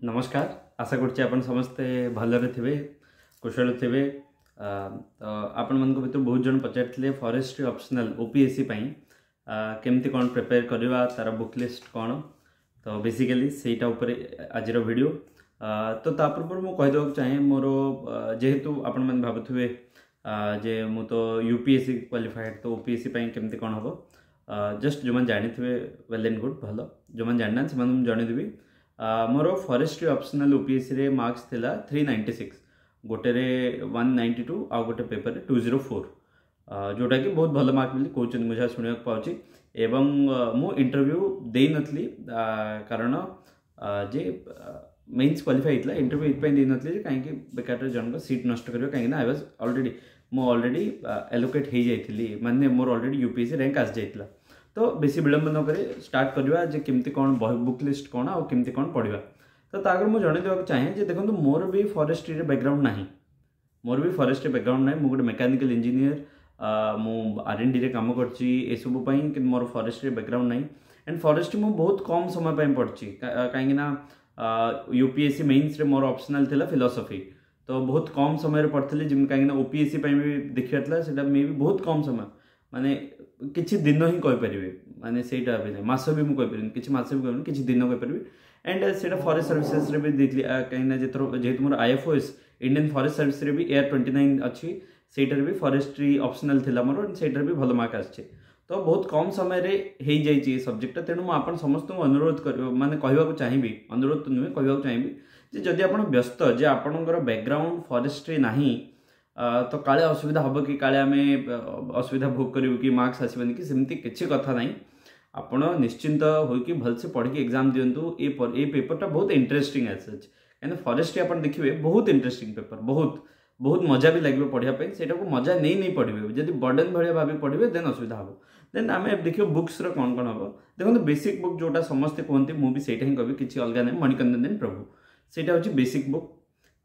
ନମସ୍କାର। ଆଶା କରୁଛି ଆପଣ ସମସ୍ତେ ଭଲରେ ଥିବେ, କୁଶଳ ଥିବେ। ତ ଆପଣମାନଙ୍କ ଭିତରୁ ବହୁତ ଜଣ ପଚାରିଥିଲେ ଫରେଷ୍ଟ୍ରି ଅପସନାଲ୍ ଓପିଏସ୍ସି ପାଇଁ କେମିତି କ'ଣ ପ୍ରିପେୟାର କରିବା, ତା'ର ବୁକ୍ ଲିଷ୍ଟ କ'ଣ। ତ ବେସିକାଲି ସେଇଟା ଉପରେ ଆଜିର ଭିଡ଼ିଓ। ତ ତା ପୂର୍ବରୁ ମୁଁ କହିଦେବାକୁ ଚାହେଁ, ମୋର ଯେହେତୁ ଆପଣମାନେ ଭାବୁଥିବେ ଯେ ମୁଁ ତ ୟୁପିଏସ୍ସି କ୍ୱାଲିଫାଏଡ଼୍, ତ ଓପିଏସ୍ସି ପାଇଁ କେମିତି କ'ଣ ହେବ। ଜଷ୍ଟ ଯେଉଁମାନେ ଜାଣିଥିବେ ୱେଲ୍ ଆଣ୍ଡ ଗୁଡ୍, ଭଲ। ଯେଉଁମାନେ ଜାଣିନାହାନ୍ତି ସେମାନଙ୍କୁ ମୁଁ ଜଣେଇଦେବି, ମୋର ଫରେଷ୍ଟ୍ରି ଅପସନାଲ୍ ଓପିଏସ୍ସିରେ ମାର୍କସ୍ ଥିଲା 396, ଗୋଟେରେ 192 ଆଉ ଗୋଟେ ପେପରରେ 204, ଯେଉଁଟାକି ବହୁତ ଭଲ ମାର୍କ ବୋଲି କହୁଛନ୍ତି, ମୁଁ ଯାହା ଶୁଣିବାକୁ ପାଉଛି। ଏବଂ ମୁଁ ଇଣ୍ଟରଭ୍ୟୁ ଦେଇନଥିଲି, କାରଣ ଯେ ମେନ୍ସ କ୍ୱାଲିଫାଇ ହେଇଥିଲା। ଇଣ୍ଟରଭ୍ୟୁ ଏଇଥିପାଇଁ ଦେଇନଥିଲି ଯେ କାହିଁକି ବେକାରରେ ଜଣଙ୍କ ସିଟ୍ ନଷ୍ଟ କରିବ, କାହିଁକିନା I was already, ମୁଁ ଅଲରେଡ଼ି ଆଲୋକେଟ୍ ହେଇଯାଇଥିଲି, ମାନେ ମୋର ଅଲରେଡ଼ି ୟୁପିଏସ୍ସି ର୍ୟାଙ୍କ ଆସିଯାଇଥିଲା। ତ ବେଶୀ ବିଳମ୍ବ ନ କରି ଷ୍ଟାର୍ଟ କରିବା ଯେ କେମିତି କ'ଣ ବୁକ୍ ଲିଷ୍ଟ କ'ଣ ଆଉ କେମିତି କ'ଣ ପଢ଼ିବା। ତ ତା ଆଗରୁ ମୁଁ ଜଣେଇ ଦେବାକୁ ଚାହେଁ ଯେ ଦେଖନ୍ତୁ, ମୋର ବି ଫରେଷ୍ଟ୍ରିରେ ବ୍ୟାକଗ୍ରାଉଣ୍ଡ ନାହିଁ, ମୋର ବି ଫରେଷ୍ଟ୍ରି ବ୍ୟାକଗ୍ରାଉଣ୍ଡ ନାହିଁ। ମୁଁ ଗୋଟେ ମେକାନିକାଲ ଇଞ୍ଜିନିୟର, ମୁଁ ଆର୍ ଏନ୍ ଡିରେ କାମ କରିଛି ଏସବୁ ପାଇଁ, କିନ୍ତୁ ମୋର ଫରେଷ୍ଟ୍ରି ବ୍ୟାକଗ୍ରାଉଣ୍ଡ ନାହିଁ। ଆଣ୍ଡ ଫରେଷ୍ଟ୍ରି ମୁଁ ବହୁତ କମ୍ ସମୟ ପାଇଁ ପଢ଼ିଛି, କାହିଁକିନା ୟୁପିଏସ୍ସି ମେନ୍ସରେ ମୋର ଅପସନାଲ୍ ଥିଲା ଫିଲୋସଫି। ତ ବହୁତ କମ୍ ସମୟରେ ପଢ଼ିଥିଲି ଯେମିତି, କାହିଁକିନା ଓପିଏସ୍ସି ପାଇଁ ବି ଦେଖିବାର ଥିଲା। ସେଇଟା ମେ ବି ବହୁତ କମ୍ ସମୟ, ମାନେ କିଛି ଦିନ ହିଁ କହିପାରିବି, ମାନେ ସେଇଟା ବି ନାହିଁ, ମାସ ବି ମୁଁ କହିପାରିବିନି, କିଛି ମାସ ବି କହିପାରିବିନି, କିଛି ଦିନ କହିପାରିବି। ଆଣ୍ଡ ସେଇଟା ଫରେଷ୍ଟ ସର୍ଭିସେସରେ ବି ଦେଇଥିଲି, କାହିଁକିନା ଯେହେତୁ ମୋର ଆଇଏଫ୍ଓଏସ୍ ଇଣ୍ଡିଆନ୍ ଫରେଷ୍ଟ ସର୍ଭିସରେ ବି ଏଆର୍ 29 ଅଛି, ସେଇଟାରେ ବି ଫରେଷ୍ଟ୍ରି ଅପସନାଲ୍ ଥିଲା ମୋର, ସେଇଟାରେ ବି ଭଲ ମାର୍କ ଆସିଛି। ତ ବହୁତ କମ୍ ସମୟରେ ହେଇଯାଇଛି ଏ ସବଜେକ୍ଟଟା। ତେଣୁ ମୁଁ ଆପଣ ସମସ୍ତଙ୍କୁ ଅନୁରୋଧ କରିବ, ମାନେ କହିବାକୁ ଚାହିଁବି, ଅନୁରୋଧ ତ ନୁହେଁ, କହିବାକୁ ଚାହିଁବି ଯେ ଯଦି ଆପଣ ବ୍ୟସ୍ତ ଯେ ଆପଣଙ୍କର ବ୍ୟାକଗ୍ରାଉଣ୍ଡ ଫରେଷ୍ଟ୍ରି ନାହିଁ, ତ କାଳେ ଅସୁବିଧା ହେବ କି, କାଳେ ଆମେ ଅସୁବିଧା ଭୋଗ କରିବୁ କି, ମାର୍କସ୍ ଆସିବନି କି, ସେମିତି କିଛି କଥା ନାହିଁ। ଆପଣ ନିଶ୍ଚିନ୍ତ ହୋଇକି ଭଲସେ ପଢ଼ିକି ଏକ୍ଜାମ୍ ଦିଅନ୍ତୁ। ଏ ପେପରଟା ବହୁତ ଇଣ୍ଟରେଷ୍ଟିଂ ଅଛି, କାହିଁକିନା ଫରେଷ୍ଟ୍ରି ଆପଣ ଦେଖିବେ ବହୁତ ଇଣ୍ଟରେଷ୍ଟିଂ ପେପର, ବହୁତ ବହୁତ ମଜା ବି ଲାଗିବ ପଢ଼ିବା ପାଇଁ। ସେଇଟାକୁ ମଜା ନେଇ ନେଇ ପଢ଼ିବେ। ଯଦି ବର୍ଡ଼େନ୍ ଭଳିଆ ଭାବି ପଢ଼ିବେ, ଦେନ୍ ଅସୁବିଧା ହେବ। ଦେନ୍ ଆମେ ଦେଖିବ ବୁକ୍ସର କ'ଣ କ'ଣ ହେବ। ଦେଖନ୍ତୁ, ବେସିକ୍ ବୁକ୍ ଯେଉଁଟା ସମସ୍ତେ କୁହନ୍ତି, ମୁଁ ବି ସେଇଟା ହିଁ କହିବି, କିଛି ଅଲଗା ନାହିଁ, ମଣିକନ୍ଦନ ପ୍ରଭୁ, ସେଇଟା ହେଉଛି ବେସିକ୍ ବୁକ୍।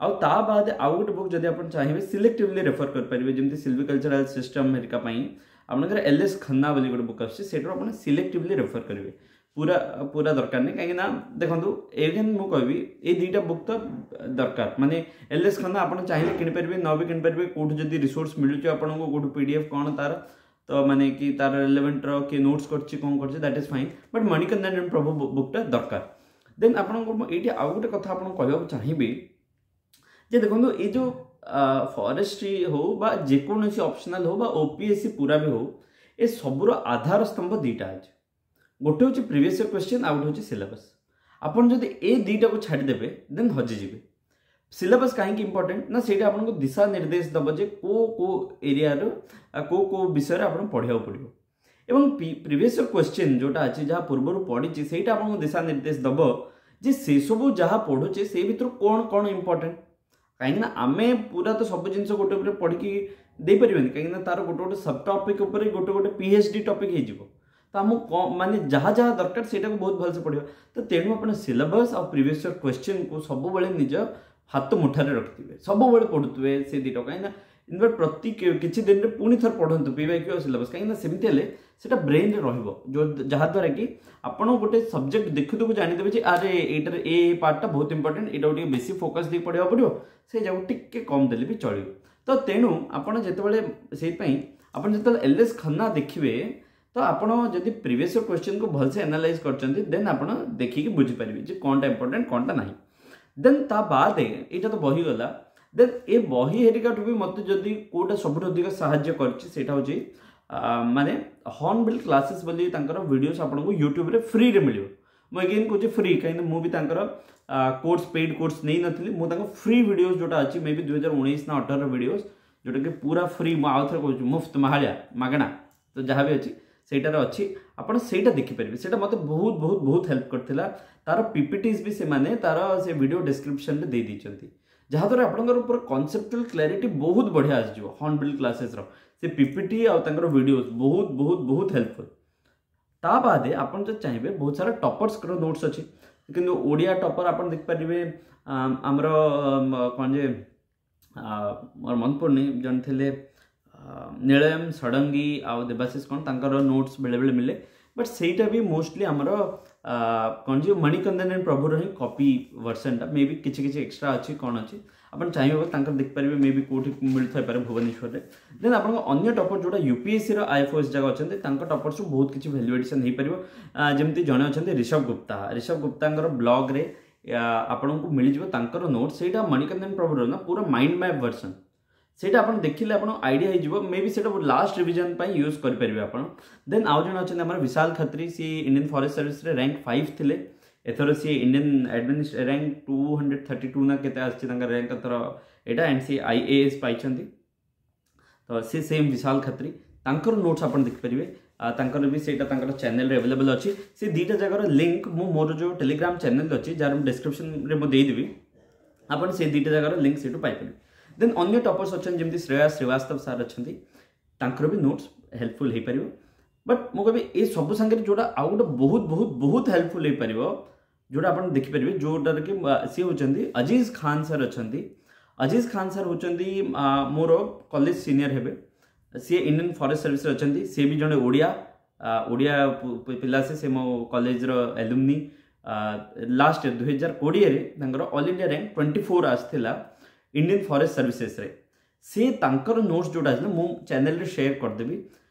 ଆଉ ତା ବାଦ ଆଉ ଗୋଟେ ବୁକ୍ ଯଦି ଆପଣ ଚାହିଁବେ ସିଲେକ୍ଟିଭଲି ରେଫର କରିପାରିବେ, ଯେମିତି ସିଲଭିକଲଚରାଲ ସିଷ୍ଟମ୍ ହେରିକା ପାଇଁ ଆପଣଙ୍କର ଏଲ୍ ଏସ୍ ଖନ୍ନା ବୋଲି ଗୋଟେ ବୁକ୍ ଆସୁଛି, ସେଇଟାରୁ ଆପଣ ସିଲେକ୍ଟିଭଲି ରେଫର କରିବେ, ପୁରା ପୁରା ଦରକାର ନାହିଁ। କାହିଁକିନା ଦେଖନ୍ତୁ, ଏଗେନ୍ ମୁଁ କହିବି, ଏଇ ଦୁଇଟା ବୁକ୍ ତ ଦରକାର, ମାନେ ଏଲ୍ ଏସ୍ ଖନ୍ନା ଆପଣ ଚାହିଁଲେ କିଣିପାରିବେ, ନ ବି କିଣିପାରିବେ, କେଉଁଠୁ ଯଦି ରିସୋର୍ସ ମିଳୁଛି ଆପଣଙ୍କୁ, କେଉଁଠୁ ପିଡିଏଫ୍ କ'ଣ ତାର, ତ ମାନେ କି ତାର ରିଲେଭେଣ୍ଟର କିଏ ନୋଟ୍ସ କରିଛି, କ'ଣ କରିଛି, that is fine. But Manikandan Prabhu ବୁକ୍ଟା ଦରକାର। ଦେନ୍ ଆପଣଙ୍କୁ ମୁଁ ଏଇଠି ଆଉ ଗୋଟେ କଥା ଆପଣଙ୍କୁ କହିବାକୁ ଚାହିଁବି ଯେ ଦେଖନ୍ତୁ, ଏଇ ଯେଉଁ ଫରେଷ୍ଟ୍ରି ହଉ ବା ଯେକୌଣସି ଅପସନାଲ୍ ହଉ ବା ଓପିଏସ୍ସି ପୁରା ବି ହଉ, ଏ ସବୁର ଆଧାର ସ୍ତମ୍ଭ ଦୁଇଟା ଅଛି। ଗୋଟେ ହେଉଛି ପ୍ରିଭିୟସ୍ ଇୟର୍ କ୍ୱେଶ୍ଚିନ୍, ଆଉ ଗୋଟେ ହେଉଛି ସିଲାବସ୍। ଆପଣ ଯଦି ଏ ଦୁଇଟାକୁ ଛାଡ଼ିଦେବେ, ଦେନ୍ ହଜିଯିବେ। ସିଲାବସ୍ କାହିଁକି ଇମ୍ପର୍ଟାଣ୍ଟ ନା, ସେଇଟା ଆପଣଙ୍କୁ ଦିଶା ନିର୍ଦ୍ଦେଶ ଦେବ ଯେ କେଉଁ କେଉଁ ଏରିଆରୁ କେଉଁ କେଉଁ ବିଷୟରେ ଆପଣ ପଢ଼ିବାକୁ ପଡ଼ିବ, ଏବଂ ପ୍ରିଭିୟସ୍ ଇୟର୍ କ୍ୱେଶ୍ଚିନ୍ ଯେଉଁଟା ଅଛି, ଯାହା ପୂର୍ବରୁ ପଡ଼ିଛି, ସେଇଟା ଆପଣଙ୍କୁ ଦିଶା ନିର୍ଦ୍ଦେଶ ଦେବ ଯେ ସେସବୁ ଯାହା ପଢ଼ୁଛେ ସେଇ ଭିତରୁ କ'ଣ କ'ଣ ଇମ୍ପର୍ଟାଣ୍ଟ। କାହିଁକିନା ଆମେ ପୁରା ତ ସବୁ ଜିନିଷ ଗୋଟେ ଉପରେ ପଢ଼ିକି ଦେଇପାରିବାନି, କାହିଁକିନା ତାର ଗୋଟେ ଗୋଟେ ସବ୍ ଟପିକ୍ ଉପରେ ଗୋଟେ ଗୋଟେ ପିଏଚ୍ ଡି ଟପିକ୍ ହେଇଯିବ। ତ ଆମକୁ ମାନେ ଯାହା ଯାହା ଦରକାର ସେଇଟାକୁ ବହୁତ ଭଲସେ ପଢ଼ିବା। ତ ତେଣୁ ଆପଣ ସିଲାବସ୍ ଆଉ ପ୍ରିଭିୟସ୍ ଇୟର୍ କ୍ୱେଶ୍ଚିନ୍କୁ ସବୁବେଳେ ନିଜ ହାତ ମୁଠାରେ ରଖିଥିବେ, ସବୁବେଳେ ପଢ଼ୁଥିବେ ସେ ଦୁଇଟା। କାହିଁକିନା ଇନଫ୍ୟାକ୍ଟ ପ୍ରତି କିଛି ଦିନରେ ପୁଣି ଥରେ ପଢ଼ନ୍ତୁ ପିୱାଇକ୍ୟୁ ଆଉ ସିଲାବସ୍, କାହିଁକିନା ସେମିତି ହେଲେ ସେଇଟା ବ୍ରେନ୍ରେ ରହିବ, ଯେଉଁ ଯାହାଦ୍ୱାରା କି ଆପଣ ଗୋଟେ ସବଜେକ୍ଟ ଦେଖୁ ଦେଖୁ ଜାଣିଦେବେ ଯେ ଆରେ ଏଇଟାରେ ଏ ପାର୍ଟଟା ବହୁତ ଇମ୍ପର୍ଟାଣ୍ଟ, ଏଇଟାକୁ ଟିକେ ବେଶୀ ଫୋକସ୍ ଦେଇକି ପଢ଼ିବାକୁ ପଡ଼ିବ, ସେ ଯାକୁ ଟିକେ କମ୍ ଦେଲେ ବି ଚଳିବ। ତ ତେଣୁ ଆପଣ ଯେତେବେଳେ, ସେଇଥିପାଇଁ ଆପଣ ଯେତେବେଳେ ଏଲ୍ ଏସ୍ ଖନ୍ନା ଦେଖିବେ, ତ ଆପଣ ଯଦି ପ୍ରିଭିୟସ୍ ଇୟର୍ କ୍ୱେଶ୍ଚିନ୍କୁ ଭଲସେ ଆନାଲାଇଜ୍ କରିଛନ୍ତି, ଦେନ୍ ଆପଣ ଦେଖିକି ବୁଝିପାରିବେ ଯେ କ'ଣଟା ଇମ୍ପର୍ଟାଣ୍ଟ, କ'ଣଟା ନାହିଁ। ଦେନ୍ ତା ବାଦେ ଏଇଟା ତ ବହି ଗଲା। ଦେନ୍ ଏ ବହି ହେରିକାଠୁ ବି ମୋତେ ଯଦି କେଉଁଟା ସବୁଠୁ ଅଧିକ ସାହାଯ୍ୟ କରିଛି, ସେଇଟା ହେଉଛି ମାନେ ହର୍ନବିଲ୍ କ୍ଲାସେସ୍ ବୋଲି ତାଙ୍କର ଭିଡ଼ିଓସ୍ ଆପଣଙ୍କୁ ୟୁଟ୍ୟୁବରେ ଫ୍ରିରେ ମିଳିବ। ମୁଁ ଏଗେନ୍ କହୁଛି ଫ୍ରି, କାହିଁକିନା ମୁଁ ବି ତାଙ୍କର କୋର୍ସ, ପେଡ୍ କୋର୍ସ ନେଇନଥିଲି। ମୁଁ ତାଙ୍କ ଫ୍ରି ଭିଡ଼ିଓସ୍ ଯେଉଁଟା ଅଛି, ମେ ବି 2019 ନା 18 ଭିଡ଼ିଓସ୍, ଯେଉଁଟାକି ପୁରା ଫ୍ରି, ମୁଁ ଆଉ ଥରେ କହୁଛି, ମୁଫ୍ତ, ମାହାଳିଆ, ମାଗଣା, ତ ଯାହା ବି ଅଛି ସେଇଟାରେ ଅଛି, ଆପଣ ସେଇଟା ଦେଖିପାରିବେ। ସେଇଟା ମୋତେ ବହୁତ ବହୁତ ବହୁତ ହେଲ୍ପ କରିଥିଲା। ତାର ପିପିଟିସ୍ ବି ସେମାନେ ତାର ସେ ଭିଡ଼ିଓ ଡିସ୍କ୍ରିପ୍ସନରେ ଦେଇ ଦେଇଛନ୍ତି, ଯାହାଦ୍ୱାରା ଆପଣଙ୍କର ପୁରା କନସେପ୍ଚୁଆଲ କ୍ଲାରିଟି ବହୁତ ବଢ଼ିଆ ଆସିଯିବ। ହର୍ନବିଲ୍ କ୍ଲାସେସ୍ର ସେ ପିପିଟି ଆଉ ତାଙ୍କର ଭିଡ଼ିଓସ୍ ବହୁତ ବହୁତ ବହୁତ ହେଲ୍ପଫୁଲ୍। ତା ବାଦେ ଆପଣ ଯଦି ଚାହିଁବେ, ବହୁତ ସାରା ଟପର୍ସଙ୍କର ନୋଟ୍ସ ଅଛି, କିନ୍ତୁ ଓଡ଼ିଆ ଟପର ଆପଣ ଦେଖିପାରିବେ, ଆମର କ'ଣ ଯେ ମୋର ମନେ ପଡ଼ୁନି, ଜଣେ ଥିଲେ ନୀଳୟମ ଷଡ଼ଙ୍ଗୀ ଆଉ ଦେବାଶିଷ କ'ଣ, ତାଙ୍କର ନୋଟ୍ସ ବେଳେବେଳେ ମିଳେ। ବଟ୍ ସେଇଟା ବି ମୋଷ୍ଟଲି ଆମର କ'ଣ ଯେ ମଣିକନ୍ଦନ ଆଣ୍ଡ ପ୍ରଭୁର ହିଁ କପି ଭର୍ସନଟା, ମେ ବି କିଛି କିଛି ଏକ୍ସଟ୍ରା ଅଛି, କ'ଣ ଅଛି, ଆପଣ ଚାହିଁବେ ବୋଲେ ତାଙ୍କର ଦେଖିପାରିବେ, ମେ ବି କେଉଁଠି ମିଳୁଥାଇପାରେ ଭୁବନେଶ୍ୱରରେ। ଦେନ୍ ଆପଣଙ୍କ ଅନ୍ୟ ଟପର ଯେଉଁଟା ୟୁପିଏସ୍ସିର ଆଇଏଫ୍ଓଏସ୍ ଯାକ ଅଛନ୍ତି, ତାଙ୍କ ଟପର୍ସରୁ ବହୁତ କିଛି ଭ୍ୟାଲ୍ୟୁ ଏଡିସନ୍ ହେଇପାରିବ। ଯେମିତି ଜଣେ ଅଛନ୍ତି ଋଷଭ ଗୁପ୍ତା, ଋଷଭ ଗୁପ୍ତାଙ୍କର ବ୍ଲଗ୍ରେ ଆପଣଙ୍କୁ ମିଳିଯିବ ତାଙ୍କର ନୋଟ୍। ସେଇଟା ମଣିକନ୍ଦନ ପ୍ରଭୁର ନା ପୁରା ମାଇଣ୍ଡ ମ୍ୟାପ୍ ଭର୍ସନ୍, ସେଇଟା ଆପଣ ଦେଖିଲେ ଆପଣ ଆଇଡ଼ିଆ ହେଇଯିବ, ମେ ବି ସେଇଟା ଲାଷ୍ଟ ରିଭିଜନ୍ ପାଇଁ ୟୁଜ୍ କରିପାରିବେ ଆପଣ। ଦେନ୍ ଆଉ ଜଣେ ଅଛନ୍ତି ଆମର ବିଶାଲ ଖତ୍ରୀ, ସିଏ ଇଣ୍ଡିଆନ୍ ଫରେଷ୍ଟ ସର୍ଭିସରେ ର୍ୟାଙ୍କ 5 ଥିଲେ। ଏଥର ସିଏ ଇଣ୍ଡିଆନ୍ ରାଙ୍କ 232 ନା କେତେ ଆସିଛି ତାଙ୍କର ର୍ୟାଙ୍କ ଏଥର ଏଇଟା, ଆଣ୍ଡ ସିଏ ଆଇଏଏସ୍ ପାଇଛନ୍ତି। ତ ସେ ସେମ୍ ବିଶାଲ ଖତ୍ରୀ, ତାଙ୍କର ନୋଟ୍ସ ଆପଣ ଦେଖିପାରିବେ, ତାଙ୍କର ବି ସେଇଟା ତାଙ୍କର ଚ୍ୟାନେଲରେ ଆଭେଲେବଲ୍ ଅଛି। ସେ ଦୁଇଟା ଜାଗାର ଲିଙ୍କ୍ ମୁଁ ମୋର ଯେଉଁ ଟେଲିଗ୍ରାମ ଚ୍ୟାନେଲ୍ ଅଛି, ଯାହାର ମୁଁ ଡେସ୍କ୍ରିପ୍ସନରେ ମୁଁ ଦେଇଦେବି, ଆପଣ ସେ ଦୁଇଟା ଜାଗାର ଲିଙ୍କ୍ ସେଇଠୁ ପାଇପାରିବେ। ଦେନ୍ ଅନ୍ୟ ଟପର୍ସ ଅଛନ୍ତି ଯେମିତି ଶ୍ରେୟା ଶ୍ରୀବାସ୍ତବ ସାର୍ ଅଛନ୍ତି, ତାଙ୍କର ବି ନୋଟ୍ସ ହେଲ୍ପଫୁଲ୍ ହେଇପାରିବ। ବଟ୍ ମୁଁ କହିବି ଏ ସବୁ ସାଙ୍ଗରେ ଯେଉଁଟା ଆଉ ଗୋଟେ ବହୁତ ବହୁତ ବହୁତ ହେଲ୍ପଫୁଲ୍ ହେଇପାରିବ, ଯେଉଁଟା ଆପଣ ଦେଖିପାରିବେ, ଯେଉଁଟାରେ କି ସିଏ ହେଉଛନ୍ତି ଅଜିଜ ଖାନ୍ ସାର୍ ଅଛନ୍ତି। ଅଜିଜ ଖାନ୍ ସାର୍ ହେଉଛନ୍ତି ମୋର କଲେଜ ସିନିୟର ହେବେ, ସିଏ ଇଣ୍ଡିଆନ୍ ଫରେଷ୍ଟ ସର୍ଭିସରେ ଅଛନ୍ତି। ସିଏ ବି ଜଣେ ଓଡ଼ିଆ ଓଡ଼ିଆ ପିଲା, ସେ ମୋ କଲେଜର ଆଲୁମିନି। ଲାଷ୍ଟ ଇୟର 2020ରେ ତାଙ୍କର ଅଲ୍ ଇଣ୍ଡିଆ ର୍ୟାଙ୍କ 24 ଆସିଥିଲା ଇଣ୍ଡିଆନ୍ ଫରେଷ୍ଟ ସର୍ଭିସେସରେ। ସେ ତାଙ୍କର ନୋଟ୍ସ ଯେଉଁଟା ଆସିଲା ମୁଁ ଚ୍ୟାନେଲରେ ସେୟାର କରିଦେବି,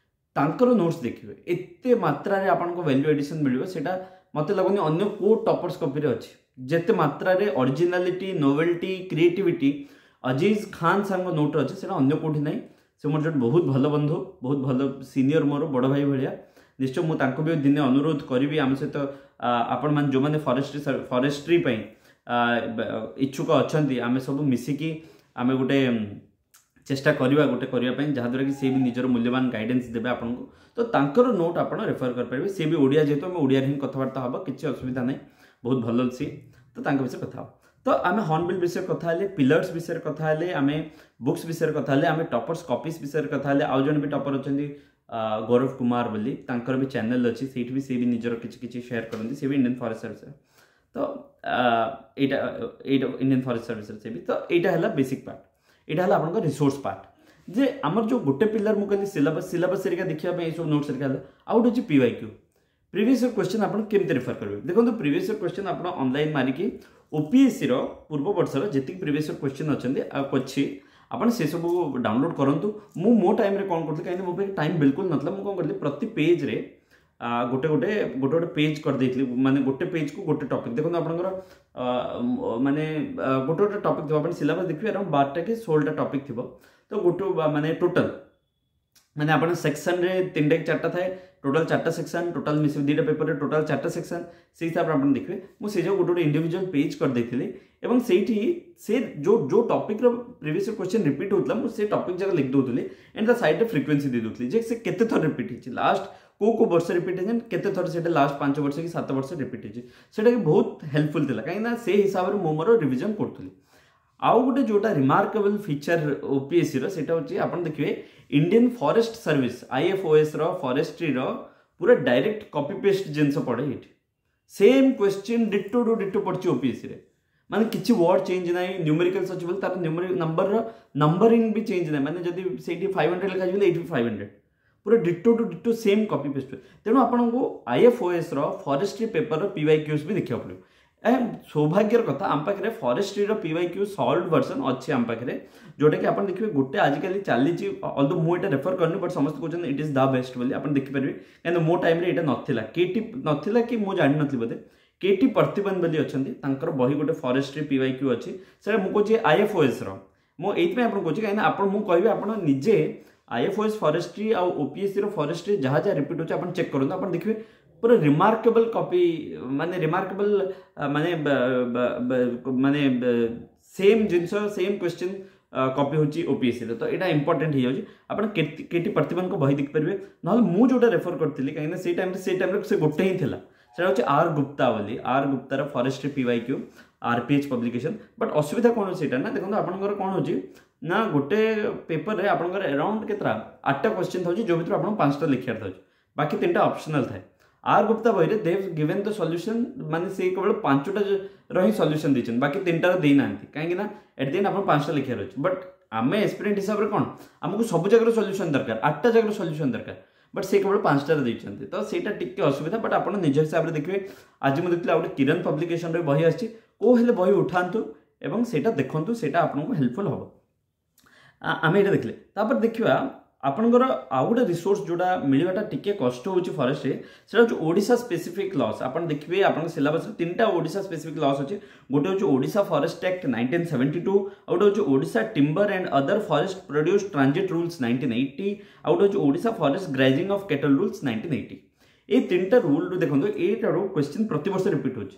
ତାଙ୍କର ନୋଟ୍ସ ଦେଖିବେ, ଏତେ ମାତ୍ରାରେ ଆପଣଙ୍କୁ ଭ୍ୟାଲ୍ୟୁ ଏଡିସନ୍ ମିଳିବ, ସେଇଟା ମୋତେ ଲାଗୁନି ଅନ୍ୟ କେଉଁ ଟପର୍ସ କପିରେ ଅଛି। ଯେତେ ମାତ୍ରାରେ originality, novelty, creativity Aziz Khan ସାର୍ଙ୍କ ନୋଟ୍ରେ ଅଛି, ସେଇଟା ଅନ୍ୟ କେଉଁଠି ନାହିଁ। ସେ ମୋର ଜଣେ ବହୁତ ଭଲ ବନ୍ଧୁ, ବହୁତ ଭଲ ସିନିୟର, ମୋର ବଡ଼ ଭାଇ ଭଳିଆ। ନିଶ୍ଚୟ ମୁଁ ତାଙ୍କୁ ବି ଦିନେ ଅନୁରୋଧ କରିବି, ଆମ ସହିତ ଆପଣମାନେ ଯେଉଁମାନେ ଫରେଷ୍ଟ୍ରି ପାଇଁ ଇଚ୍ଛୁକ ଅଛନ୍ତି, ଆମେ ସବୁ ମିଶିକି ଆମେ ଗୋଟେ ଚେଷ୍ଟା କରିବା ଗୋଟେ କରିବା ପାଇଁ, ଯାହାଦ୍ୱାରା କି ସେ ବି ନିଜର ମୂଲ୍ୟବାନ ଗାଇଡେନ୍ସ ଦେବେ ଆପଣଙ୍କୁ। ତ ତାଙ୍କର ନୋଟ୍ ଆପଣ ରେଫର କରିପାରିବେ। ସେ ବି ଓଡ଼ିଆ, ଯେହେତୁ ଆମେ ଓଡ଼ିଆରେ ହିଁ କଥାବାର୍ତ୍ତା ହେବ, କିଛି ଅସୁବିଧା ନାହିଁ, ବହୁତ ଭଲ ସିଏ, ତ ତାଙ୍କ ବିଷୟରେ କଥା ହେବ। ତ ଆମେ ହର୍ନବିଲ୍ ବିଷୟରେ କଥା ହେଲେ, ପିଲର୍ସ ବିଷୟରେ କଥା ହେଲେ, ଆମେ ବୁକ୍ସ ବିଷୟରେ କଥା ହେଲେ, ଆମେ ଟପର୍ସ କପିସ୍ ବିଷୟରେ କଥା ହେଲେ। ଆଉ ଜଣେ ବି ଟପର ଅଛନ୍ତି ଗୌରବ କୁମାର ବୋଲି, ତାଙ୍କର ବି ଚ୍ୟାନେଲ୍ ଅଛି, ସେଇଠି ବି ସେ ବି ନିଜର କିଛି କିଛି ସେୟାର କରନ୍ତି। ସେ ବି ଇଣ୍ଡିଆନ୍ ଫରେଷ୍ଟ ସର୍ଭିସରେ, ତ ଏଇଟା ଏଇଟା ଇଣ୍ଡିଆନ୍ ଫରେଷ୍ଟ ସର୍ଭିସରେ ସେ ବି। ତ ଏଇଟା ହେଲା ବେସିକ୍ ପାର୍ଟ, ଏଇଟା ହେଲା ଆପଣଙ୍କ ରିସୋର୍ସ ପାର୍ଟ। ଯେ ଆମର ଯେଉଁ ଗୋଟେ ପିଲର ମୁଁ କହିଲି ସିଲାବସ୍, ସିଲାବସ୍ ହେରିକା ଦେଖିବା ପାଇଁ ଏସବୁ ନୋଟ୍ସ ହେରିକା ହେଲା। ଆଉ ଗୋଟେ ହେଉଛି ପିୱାଇ କ୍ୟୁ, ପ୍ରିଭିୟସ୍ ଇୟର କ୍ୱେଶ୍ଚନ୍ ଆପଣ କେମିତି ରେଫର କରିବେ। ଦେଖନ୍ତୁ, ପ୍ରିଭିୟସ୍ ଇୟର କ୍ୱେଶ୍ଚନ୍ ଆପଣ ଅନଲାଇନ୍ ମାରିକି ଓପିଏସ୍ସିର ପୂର୍ବ ବର୍ଷର ଯେତିକି ପ୍ରିଭିୟସ୍ ଇୟର କ୍ୱେଶ୍ଚନ୍ ଅଛନ୍ତି ଆଉ ଅଛି, ଆପଣ ସେସବୁ ଡାଉନଲୋଡ଼ କରନ୍ତୁ। ମୁଁ ମୋ ଟାଇମ୍ରେ କ'ଣ କରୁଥିଲି, କାହିଁକିନା ମୋ ପାଖରେ ଟାଇମ୍ ବିଲକୁଲ ନଥିଲା, ମୁଁ କ'ଣ କରିଥିଲି, ପ୍ରତି ପେଜ୍ରେ ଗୋଟେ ଗୋଟେ ଗୋଟେ ଗୋଟେ ପେଜ୍ କରିଦେଇଥିଲି, ମାନେ ଗୋଟେ ପେଜ୍କୁ ଗୋଟେ ଟପିକ୍। ଦେଖନ୍ତୁ, ଆପଣଙ୍କର ମାନେ ଗୋଟେ ଗୋଟେ ଟପିକ୍ ଥିବ, ଆପଣ ସିଲାବସ୍ ଦେଖିବେ, ଆରାଉଣ୍ଡ 12ଟା କି 16ଟା ଟପିକ୍ ଥିବ। ତ ଗୋଟେ ମାନେ ଟୋଟାଲ୍ ମାନେ ଆପଣ ସେକ୍ସନରେ 3ଟା କି 4ଟା ଥାଏ, ଟୋଟାଲ୍ 4ଟା ସେକ୍ସନ୍, ଟୋଟାଲ୍ ମିଶିକି 2ଟା ପେପରରେ ଟୋଟାଲ୍ 4ଟା ସେକ୍ସନ୍, ସେଇ ହିସାବରେ ଆପଣ ଦେଖିବେ। ମୁଁ ସେ ଯେଉଁ ଗୋଟେ ଗୋଟେ ଇଣ୍ଡିଭିଜୁଆଲ୍ ପେଜ୍ କରିଦେଇଥିଲି ଏବଂ ସେଇଠି ସେ ଯେଉଁ ଯେଉଁ ଟପିକ୍ର ପ୍ରିଭିୟସ୍ କ୍ୱେଶ୍ଚନ୍ ରିପିଟ୍ ହେଉଥିଲା, ମୁଁ ସେ ଟପିକ୍ ଯାକ ଲେଖି ଦେଉଥିଲି ଆଣ୍ଡ ତା ସାଇଡ଼୍ରେ ଫ୍ରିକ୍ୱେନ୍ସି ଦେଇ ଦେଉଥିଲି ଯେ ସେ କେତେ ଥର ରିପିଟ୍ ହେଇଛି, ଲାଷ୍ଟ କେଉଁ କେଉଁ ବର୍ଷ ରିପିଟ୍ ହେଇଛି, କେତେ ଥର ସେଇଟା ଲାଷ୍ଟ 5 ବର୍ଷ କି 7 ବର୍ଷ ରିପିଟ୍ ହେଇଛି। ସେଇଟା କି ବହୁତ ହେଲ୍ପଫୁଲ୍ ଥିଲା, କାହିଁକିନା ସେ ହିସାବରେ ମୁଁ ମୋର ରିଭିଜନ୍ କରୁଥିଲି। ଆଉ ଗୋଟେ ଯେଉଁଟା ରିମାର୍କେବଲ୍ ଫିଚର ଓପିଏସ୍ସିର, ସେଇଟା ହେଉଛି ଆପଣ ଦେଖିବେ ଇଣ୍ଡିଆନ୍ ଫରେଷ୍ଟ ସର୍ଭିସ ଆଇଏଫ୍ଓଏସ୍ର ଫରେଷ୍ଟ୍ରିର ପୁରା ଡାଇରେକ୍ଟ କପି ପେଷ୍ଟ ଜିନିଷ ପଡ଼େ ଏଇଠି। Same question ditto to ditto ପଡ଼ିଛି ଓପିଏସ୍ସିରେ, ମାନେ କିଛି ୱାର୍ଡ ଚେଞ୍ଜ ନାହିଁ। ନ୍ୟୁମେରିକାଲ୍ସ ଅଛି ବୋଲି ତାର ନ୍ୟୁମେରିକ ନମ୍ବରର ନମ୍ବରିଂ ବି ଚେଞ୍ଜ ନାହିଁ, ମାନେ ଯଦି ସେଇଠି 500 ଲେଖାଯିବ ଏଇଠି 500, ପୁରା ditto to ditto same copy paste. ତେଣୁ ଆପଣଙ୍କୁ ଆଇଏଫ୍ଓଏସ୍ର ଫରେଷ୍ଟ୍ରି ପେପରର ପିୱାଇ କ୍ୟୁଜ୍ ବି ଦେଖିବାକୁ ପଡ଼ିବ। ସୌଭାଗ୍ୟର କଥା, ଆମ ପାଖରେ ଫରେଷ୍ଟ୍ରିର ପିୱାଇ କ୍ୟୁ ସଲ୍ଭ ଭର୍ସନ୍ ଅଛି ଆମ ପାଖରେ, ଯେଉଁଟାକି ଆପଣ ଦେଖିବେ ଗୋଟେ ଆଜିକାଲି ଚାଲିଛି। ଅଲଦୋ ମୁଁ ଏଇଟା ରେଫର କରିନି, ବଟ୍ ସମସ୍ତେ କହୁଛନ୍ତି it is the best ବୋଲି, ଆପଣ ଦେଖିପାରିବେ। କାହିଁକିନା ମୋ ଟାଇମ୍ରେ ଏଇଟା ନଥିଲା, କେଟି ନଥିଲା କି ମୁଁ ଜାଣିନଥିଲି ବୋଧେ। କେଟି ପ୍ରତିବନ ବୋଲି ଅଛନ୍ତି, ତାଙ୍କର ବହି ଗୋଟେ ଫରେଷ୍ଟ୍ରି ପିୱାଇ କ୍ୟୁ ଅଛି। ସେଇଟା ମୁଁ କହୁଛି ଆଇଏଫ୍ଓଏସ୍ର, ମୁଁ ଏଇଥିପାଇଁ ଆପଣଙ୍କୁ କହୁଛି କାହିଁକିନା ଆପଣ ମୁଁ କହିବି ଆପଣ ନିଜେ ଆଇଏଫ୍ଓଏସ୍ ଫରେଷ୍ଟ୍ରି ଆଉ ଓପିଏସ୍ସିର ଫରେଷ୍ଟ୍ରି ଯାହା ଯାହା ରିପିଟ୍ ହେଉଛି ଆପଣ ଚେକ୍ କରନ୍ତୁ। ଆପଣ ଦେଖିବେ ପୁରା ରିମାର୍କେବଲ୍ କପି, ମାନେ ରିମାର୍କେବଲ୍ ମାନେ ମାନେ ସେମ୍ ଜିନିଷ, ସେମ୍ କ୍ୱେଶ୍ଚିନ୍ କପି ହେଉଛି ଓପିଏସ୍ସିର। ତ ଏଇଟା ଇମ୍ପର୍ଟାଣ୍ଟ ହେଇଯାଉଛି। ଆପଣ କେଟି ପ୍ରତିବନଙ୍କ ବହି ଦେଖିପାରିବେ, ନହେଲେ ମୁଁ ଯେଉଁଟା ରେଫର କରିଥିଲି, କାହିଁକିନା ସେଇ ଟାଇମ୍ରେ ସେ ଗୋଟେ ହିଁ ଥିଲା, ସେଇଟା ହେଉଛି ଆର୍ ଗୁପ୍ତା ବୋଲି, ଆର୍ ଗୁପ୍ତାର forestry PY Q, R P H publication. But ଅସୁବିଧା କ'ଣ ସେଇଟା ନା, ଦେଖନ୍ତୁ, ଆପଣଙ୍କର କ'ଣ ହେଉଛି ନା, ଗୋଟେ ପେପରରେ ଆପଣଙ୍କର ଆରାଉଣ୍ଡ କେତେଟା, 8ଟା କ୍ୱେଶ୍ଚିନ୍ ଥାଉଛି, ଯେଉଁ ଭିତରୁ ଆପଣଙ୍କୁ 5ଟା ଲେଖିବାର ଥାଉଛି, ବାକି 3ଟା ଅପସନାଲ୍ ଥାଏ। ଆର୍ ଗୁପ୍ତା ବହିରେ ଦେವ್ ଗିଭେନ୍ ଦ ସଲ୍ୟୁସନ୍, ମାନେ ସେ କେବଳ 5ଟାର ହିଁ ସଲ୍ୟୁସନ୍ ଦେଇଛନ୍ତି, ବାକି 3ଟାର ଦେଇନାହାନ୍ତି, କାହିଁକି ନା ଏଟ୍ the end ଆପଣ 5ଟା ଲେଖିବାର ଅଛି। ବଟ୍ ଆମେ ଏସ୍ପିରେଣ୍ଟ ହିସାବରେ କ'ଣ, ଆମକୁ ସବୁ ଜାଗାର ସଲ୍ୟୁସନ୍ ଦରକାର, 8ଟା ଜାଗାର ସଲ୍ୟୁସନ୍ ଦରକାର। ବଟ୍ ସେ କେବଳ 5ଟାରେ ଦେଇଛନ୍ତି, ତ ସେଇଟା ଟିକେ ଅସୁବିଧା। ବଟ୍ ଆପଣ ନିଜ ହିସାବରେ ଦେଖିବେ। ଆଜି ମୁଁ ଦେଖିଲି ଆଉ ଗୋଟେ କିରଣ ପବ୍ଲିକେସନରେ ବହି ଆସିଛି, କେଉଁ ହେଲେ ବହି ଉଠାନ୍ତୁ ଏବଂ ସେଇଟା ଦେଖନ୍ତୁ, ସେଇଟା ଆପଣଙ୍କୁ ହେଲ୍ପଫୁଲ୍ ହେବ। ଆମେ ଏଇଟା ଦେଖିଲେ, ତାପରେ ଦେଖିବା ଆପଣଙ୍କର ଆଉ ଗୋଟେ ରିସୋର୍ସ ଯେଉଁଟା ମିଳିବାଟା ଟିକେ କଷ୍ଟ ହେଉଛି ଫରେଷ୍ଟରେ, ସେଇଟା ହେଉଛି ଓଡ଼ିଶା ସ୍ପେସିଫିକ୍ ଲସ୍। ଆପଣ ଦେଖିବେ ଆପଣଙ୍କ ସିଲାବସ୍ରେ 3ଟା ଓଡ଼ିଶା ସ୍ପେସିଫିକ୍ ଲସ୍ ଅଛି। ଗୋଟେ ହେଉଛି ଓଡ଼ିଶା ଫରେଷ୍ଟ ଆକ୍ଟ 1972, ଆଉ ଗୋଟେ ହେଉଛି Odisha timber and other forest produce transit rules 1980, ଆଉ ଗୋଟେ ହେଉଛି Odisha forest grazing of cattle rules 1980। ଏଇ 3ଟା ରୁଲ୍ରୁ ଦେଖନ୍ତୁ, ଏଇଟାରୁ କ୍ୱେଶ୍ଚିନ୍ ପ୍ରତିବର୍ଷ ରିପିଟ୍ ହେଉଛି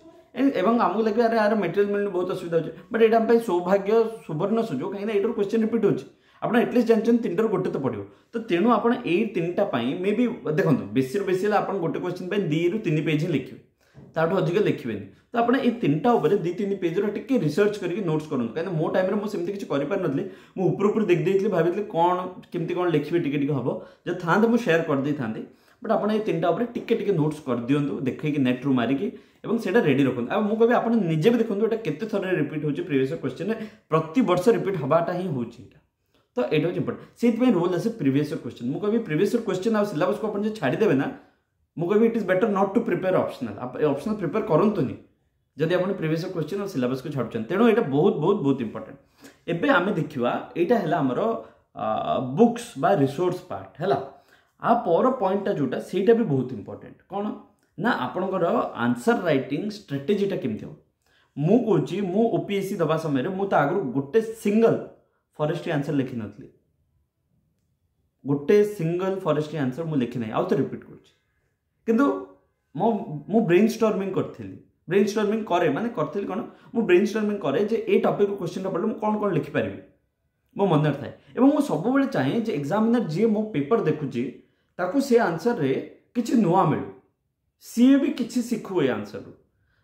ଏବଂ ଆମକୁ ଲାଗିବ ଆରେ ଆର ମେଟେରିଆଲ ମିଳୁନି, ବହୁତ ଅସୁବିଧା ହେଉଛି। ବଟ୍ ଏଇଟା ଆମ ପାଇଁ ସୌଭାଗ୍ୟ, ସୁବର୍ଣ୍ଣ ସୁଯୋଗ, କାହିଁକିନା ଏଇଟାରୁ କ୍ୱେଶ୍ଚିନ୍ ରିପିଟ୍ ହେଉଛି। ଆପଣ ଆଟଲିଷ୍ଟ ଜାଣିଛନ୍ତି 3ଟାରୁ ଗୋଟେ ତ ପଡ଼ିବ। ତ ତେଣୁ ଆପଣ ଏଇ 3ଟା ପାଇଁ ମେ ବି ଦେଖନ୍ତୁ, ବେଶୀରୁ ବେଶୀ ହେଲେ ଆପଣ ଗୋଟେ କ୍ୱେଶ୍ଚିନ୍ ପାଇଁ 2ରୁ 3 ପେଜ୍ ହିଁ ଲେଖିବେ, ତାଠୁ ଅଧିକ ଲେଖିବେନି। ତ ଆପଣ ଏଇ 3ଟା ଉପରେ 2-3 ପେଜ୍ର ଟିକେ ରିସର୍ଚ୍ଚ କରିକି ନୋଟ୍ସ କରନ୍ତୁ, କାହିଁକିନା ମୋ ଟାଇମ୍ରେ ମୁଁ ସେମିତି କିଛି କରିପାରିନଥିଲି। ମୁଁ ଉପରୁ ଉପରୁ ଦେଖିଦେଇଥିଲି, ଭାବିଥିଲି କ'ଣ କେମିତି କ'ଣ ଲେଖିବି ଟିକେ ଟିକେ ହେବ, ଯଦି ଥାନ୍ତେ ମୁଁ ସେୟାର କରିଦେଇଥାନ୍ତି। ବଟ୍ ଆପଣ ଏଇ 3ଟା ଉପରେ ଟିକେ ଟିକେ ନୋଟ୍ସ କରିଦିଅନ୍ତୁ ଦେଖେଇକି ନେଟ୍ରୁ ମାରିକି, ଏବଂ ସେଇଟା ରେଡ଼ି ରଖନ୍ତୁ। ଆଉ ମୁଁ କହିବି ଆପଣ ନିଜେ ବି ଦେଖନ୍ତୁ ଏଇଟା କେତେ ଥର ରିପିଟ୍ ହେଉଛି ପ୍ରିଭିୟସ୍ କ୍ୱେଶ୍ଚିନ୍ରେ, ପ୍ରତିବର୍ଷ ରିପିଟ୍ ହେବାଟା ହିଁ ହେଉଛି ଏଇଟା। ତ ଏଇଟା ହେଉଛି ଇମ୍ପୋର୍ଟାଣ୍ଟ। ସେଇଥିପାଇଁ ରୋଲ୍ ଆସେ ପ୍ରିଭିୟସ୍ କ୍ୱେଶ୍ଚିନ୍। ମୁଁ କହିବି ପ୍ରିଭିୟସ୍ କ୍ୱେଶ୍ଚିନ୍ ଆଉ ସିଲାବସ୍କୁ ଆପଣ ଯଦି ଛାଡ଼ିଦେବେ ନା, ମୁଁ କହିବି it is better not to prepare optional, optional prepare କରନ୍ତୁନି ଯଦି ଆପଣ ପ୍ରିଭିୟସ୍ କ୍ୱେଶ୍ଚିନ୍ ଆଉ ସିଲାବସ୍କୁ ଛାଡ଼ୁଛନ୍ତି। ତେଣୁ ଏଇଟା ବହୁତ ବହୁତ ବହୁତ ଇମ୍ପୋର୍ଟାଣ୍ଟ। ଏବେ ଆମେ ଦେଖିବା ଏଇଟା ହେଲା ଆମର ବୁକ୍ସ ବା ରିସୋର୍ସ ପାର୍ଟ ହେଲା। ଆ ପର ପଏଣ୍ଟଟା ଯେଉଁଟା ସେଇଟା ବି ବହୁତ ଇମ୍ପୋର୍ଟାଣ୍ଟ। କ'ଣ ନା ଆପଣଙ୍କର ଆନ୍ସର ରାଇଟିଂ ଷ୍ଟ୍ରାଟେଜିଟା କେମିତି ହେବ। ମୁଁ କହୁଛି ମୁଁ ଓପିଏସ୍ସି ଦେବା ସମୟରେ ମୁଁ ତା ଆଗରୁ ଗୋଟେ ସିଙ୍ଗଲ ଫରେଷ୍ଟ୍ରି ଆନ୍ସର ଲେଖିନଥିଲି, ଗୋଟେ ସିଙ୍ଗଲ ଫରେଷ୍ଟ୍ରି ଆନ୍ସର ମୁଁ ଲେଖିନାହିଁ, ଆଉ ତ ରିପିଟ୍ କରୁଛି। କିନ୍ତୁ ମୁଁ ବ୍ରେନ୍ ଷ୍ଟର୍ମିଂ କରିଥିଲି, ବ୍ରେନ୍ ଷ୍ଟର୍ମିଂ କରେ ମାନେ କରିଥିଲି କ'ଣ, ମୁଁ ବ୍ରେନ୍ ଷ୍ଟର୍ମିଂ କରେ ଯେ ଏଇ ଟପିକ୍ରୁ କ୍ୱେଶ୍ଚିନ୍ଟା ପଡ଼ିଲେ ମୁଁ କ'ଣ କ'ଣ ଲେଖିପାରିବି, ମୋ ମନରେ ଥାଏ। ଏବଂ ମୁଁ ସବୁବେଳେ ଚାହେଁ ଯେ ଏକ୍ଜାମିନର ଯିଏ ମୋ ପେପର ଦେଖୁଛି ତାକୁ ସେ ଆନ୍ସରରେ କିଛି ନୂଆ ମିଳୁ, ସିଏ ବି କିଛି ଶିଖୁ ଏ ଆନ୍ସରରୁ।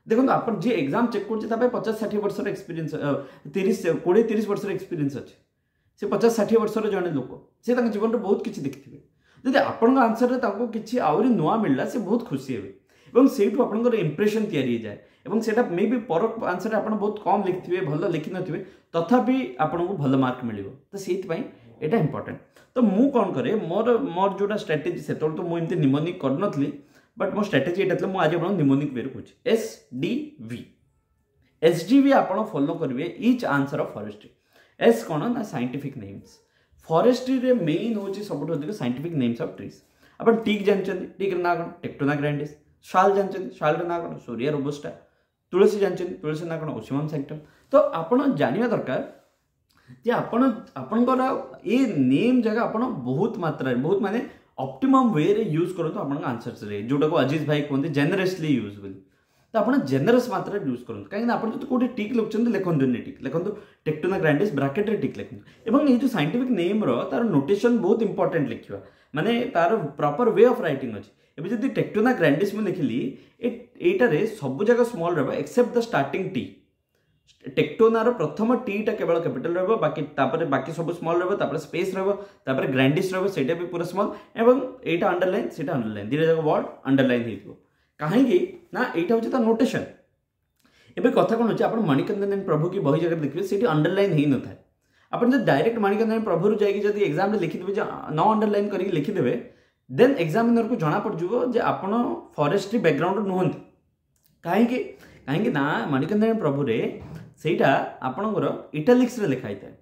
ଦେଖନ୍ତୁ ଆପଣ ଯିଏ ଏକ୍ଜାମ୍ ଚେକ୍ କରୁଛି ତା ପାଇଁ 50-60 ବର୍ଷର ଏକ୍ସପିରିଏନ୍ସ, 20-30 ବର୍ଷର ଏକ୍ସପିରିଏନ୍ସ ଅଛି। ସେ 50-60 ବର୍ଷର ଜଣେ ଲୋକ, ସେ ତାଙ୍କ ଜୀବନରେ ବହୁତ କିଛି ଦେଖିଥିବେ। ଯଦି ଆପଣଙ୍କ ଆନ୍ସରରେ ତାଙ୍କୁ କିଛି ଆହୁରି ନୂଆ ମିଳିଲା, ସେ ବହୁତ ଖୁସି ହେବେ ଏବଂ ସେଇଠୁ ଆପଣଙ୍କର ଇମ୍ପ୍ରେସନ୍ ତିଆରି ହେଇଯାଏ। ଏବଂ ସେଇଟା ମେ ବି ପର ଆନ୍ସରରେ ଆପଣ ବହୁତ କମ୍ ଲେଖିଥିବେ, ଭଲ ଲେଖିନଥିବେ, ତଥାପି ଆପଣଙ୍କୁ ଭଲ ମାର୍କ ମିଳିବ। ତ ସେଇଥିପାଇଁ ଏଇଟା ଇମ୍ପୋର୍ଟାଣ୍ଟ। ତ ମୁଁ କ'ଣ କରେ, ମୋର ମୋର ଯେଉଁଟା ଷ୍ଟ୍ରାଟେଜି, ସେତେବେଳେ ତ ମୁଁ ଏମିତି ନିମୋନିକ୍ କରିନଥିଲି, ବଟ୍ ମୋ ଷ୍ଟ୍ରାଟେଜି ଏଇଟା ଥିଲା। ମୁଁ ଆଜି ଆପଣଙ୍କୁ ନିମୋନିକ୍ ୱେରେ କହୁଛି, S D V. S D V ଆପଣ ଫଲୋ କରିବେ each answer of forestry. S କ'ଣ ନା ସାଇଣ୍ଟିଫିକ୍ ନେମ୍ସ। ଫରେଷ୍ଟ୍ରିରେ ମେନ୍ ହେଉଛି ସବୁଠୁ ଅଧିକ ସାଇଣ୍ଟିଫିକ୍ ନେମ୍ସ ଅଫ୍ ଟ୍ରିଜ୍। ଆପଣ ଟିକ୍ ଜାଣିଛନ୍ତି, ଟିକ୍ର ନାଁ କ'ଣ? ଟେକ୍ଟୋନା ଗ୍ରାଣ୍ଡିସ୍। ଶାଲ ଜାଣିଛନ୍ତି, ଶାଲର ନାଁ କ'ଣ? ସୋରିଆ ରୋବୋଷ୍ଟା। ତୁଳସୀ ଜାଣିଛନ୍ତି, ତୁଳସୀ ନାଁ କ'ଣ? ଓସିମମ୍ ସାକ୍ଟମ୍। ତ ଆପଣ ଜାଣିବା ଦରକାର ଯେ ଆପଣ ଆପଣଙ୍କର ଏ ନେମ୍ ଜାଗା ଆପଣ ବହୁତ ମାତ୍ରାରେ, ବହୁତ ମାନେ ଅପ୍ଟିମମ୍ ୱେରେ ୟୁଜ୍ କରନ୍ତୁ ଆପଣଙ୍କ ଆନ୍ସର୍ସରେ, ଯେଉଁଟାକୁ ଅଜିତ ଭାଇ କୁହନ୍ତି ଜେନେରସଲି ୟୁଜ୍ ବୋଲି। ତ ଆପଣ ଜେନେରସ୍ ମାତ୍ରାରେ ୟୁଜ୍ କରନ୍ତୁ, କାହିଁକିନା ଆପଣ ଯଦି କେଉଁଠି ଟିକ୍ ଲେଖୁଛନ୍ତି, ଲେଖନ୍ତୁନି ଟିକ୍, ଲେଖନ୍ତୁ ଟେକ୍ଟୋନା ଗ୍ରାଣ୍ଡିସ୍, ବ୍ରାକେଟ୍ରେ ଟିକ୍ ଲେଖନ୍ତୁ। ଏବଂ ଏଇ ଯେଉଁ ସାଇଣ୍ଟିଫିକ୍ ନେମ୍ର ତାର ନୋଟେସନ୍ ବହୁତ ଇମ୍ପୋର୍ଟାଣ୍ଟ ଲେଖିବା, ମାନେ ତାର ପ୍ରପର we of writing ଅଛି। ଏବେ ଯଦି ଟେକ୍ଟୋନା ଗ୍ରାଣ୍ଡିସ୍ ମୁଁ ଲେଖିଲି, ଏଇଟାରେ ସବୁ ଜାଗା ସ୍ମଲ୍ ରହିବ ଏକ୍ସେପ୍ଟ ଦ ଷ୍ଟାର୍ଟିଂ ଟି। ଟେକ୍ଟୋନାର ପ୍ରଥମ ଟିଟା କେବଳ କ୍ୟାପିଟାଲ ରହିବ, ବାକି ତାପରେ ବାକି ସବୁ ସ୍ମଲ୍ ରହିବ, ତାପରେ ସ୍ପେସ୍ ରହିବ, ତାପରେ ଗ୍ରାଣ୍ଡିସ୍ ରହିବ, ସେଇଟା ବି ପୁରା ସ୍ମଲ୍, ଏବଂ ଏଇଟା ଅଣ୍ଡରଲାଇନ୍, ସେଇଟା ଅଣ୍ଡରଲାଇନ୍, ଦୁଇଟା ଯାକ ୱାର୍ଡ ଅଣ୍ଡରଲାଇନ୍ ହେଇଥିବ। କାହିଁକି ନା ଏଇଟା ହେଉଛି ତା ନୋଟେସନ୍। ଏବେ କଥା କ'ଣ ହେଉଛି, ଆପଣ ମଣିକନ୍ଦନ ପ୍ରଭୁ କି ବହି ଜାଗାରେ ଦେଖିବେ ସେଇଠି ଅଣ୍ଡରଲାଇନ୍ ହେଇନଥାଏ। ଆପଣ ଯଦି ଡାଇରେକ୍ଟ ମଣିକନ୍ଦନ ପ୍ରଭୁରୁ ଯାଇକି ଯଦି ଏକ୍ଜାମ୍ରେ ଲେଖିଦେବେ, ଯେ ନ ଅଣ୍ଡରଲାଇନ୍ କରିକି ଲେଖିଦେବେ, ଦେନ୍ ଏକ୍ଜାମିନରକୁ ଜଣାପଡ଼ିଯିବ ଯେ ଆପଣ ଫରେଷ୍ଟ୍ରି ବ୍ୟାକଗ୍ରାଉଣ୍ଡରୁ ନୁହନ୍ତି। କାହିଁକି? କାହିଁକି ନା ମଣିକନ୍ଦନ ପ୍ରଭୁରେ ସେଇଟା ଆପଣଙ୍କର ଇଟାଲିକ୍ସରେ ଲେଖା ହେଇଥାଏ,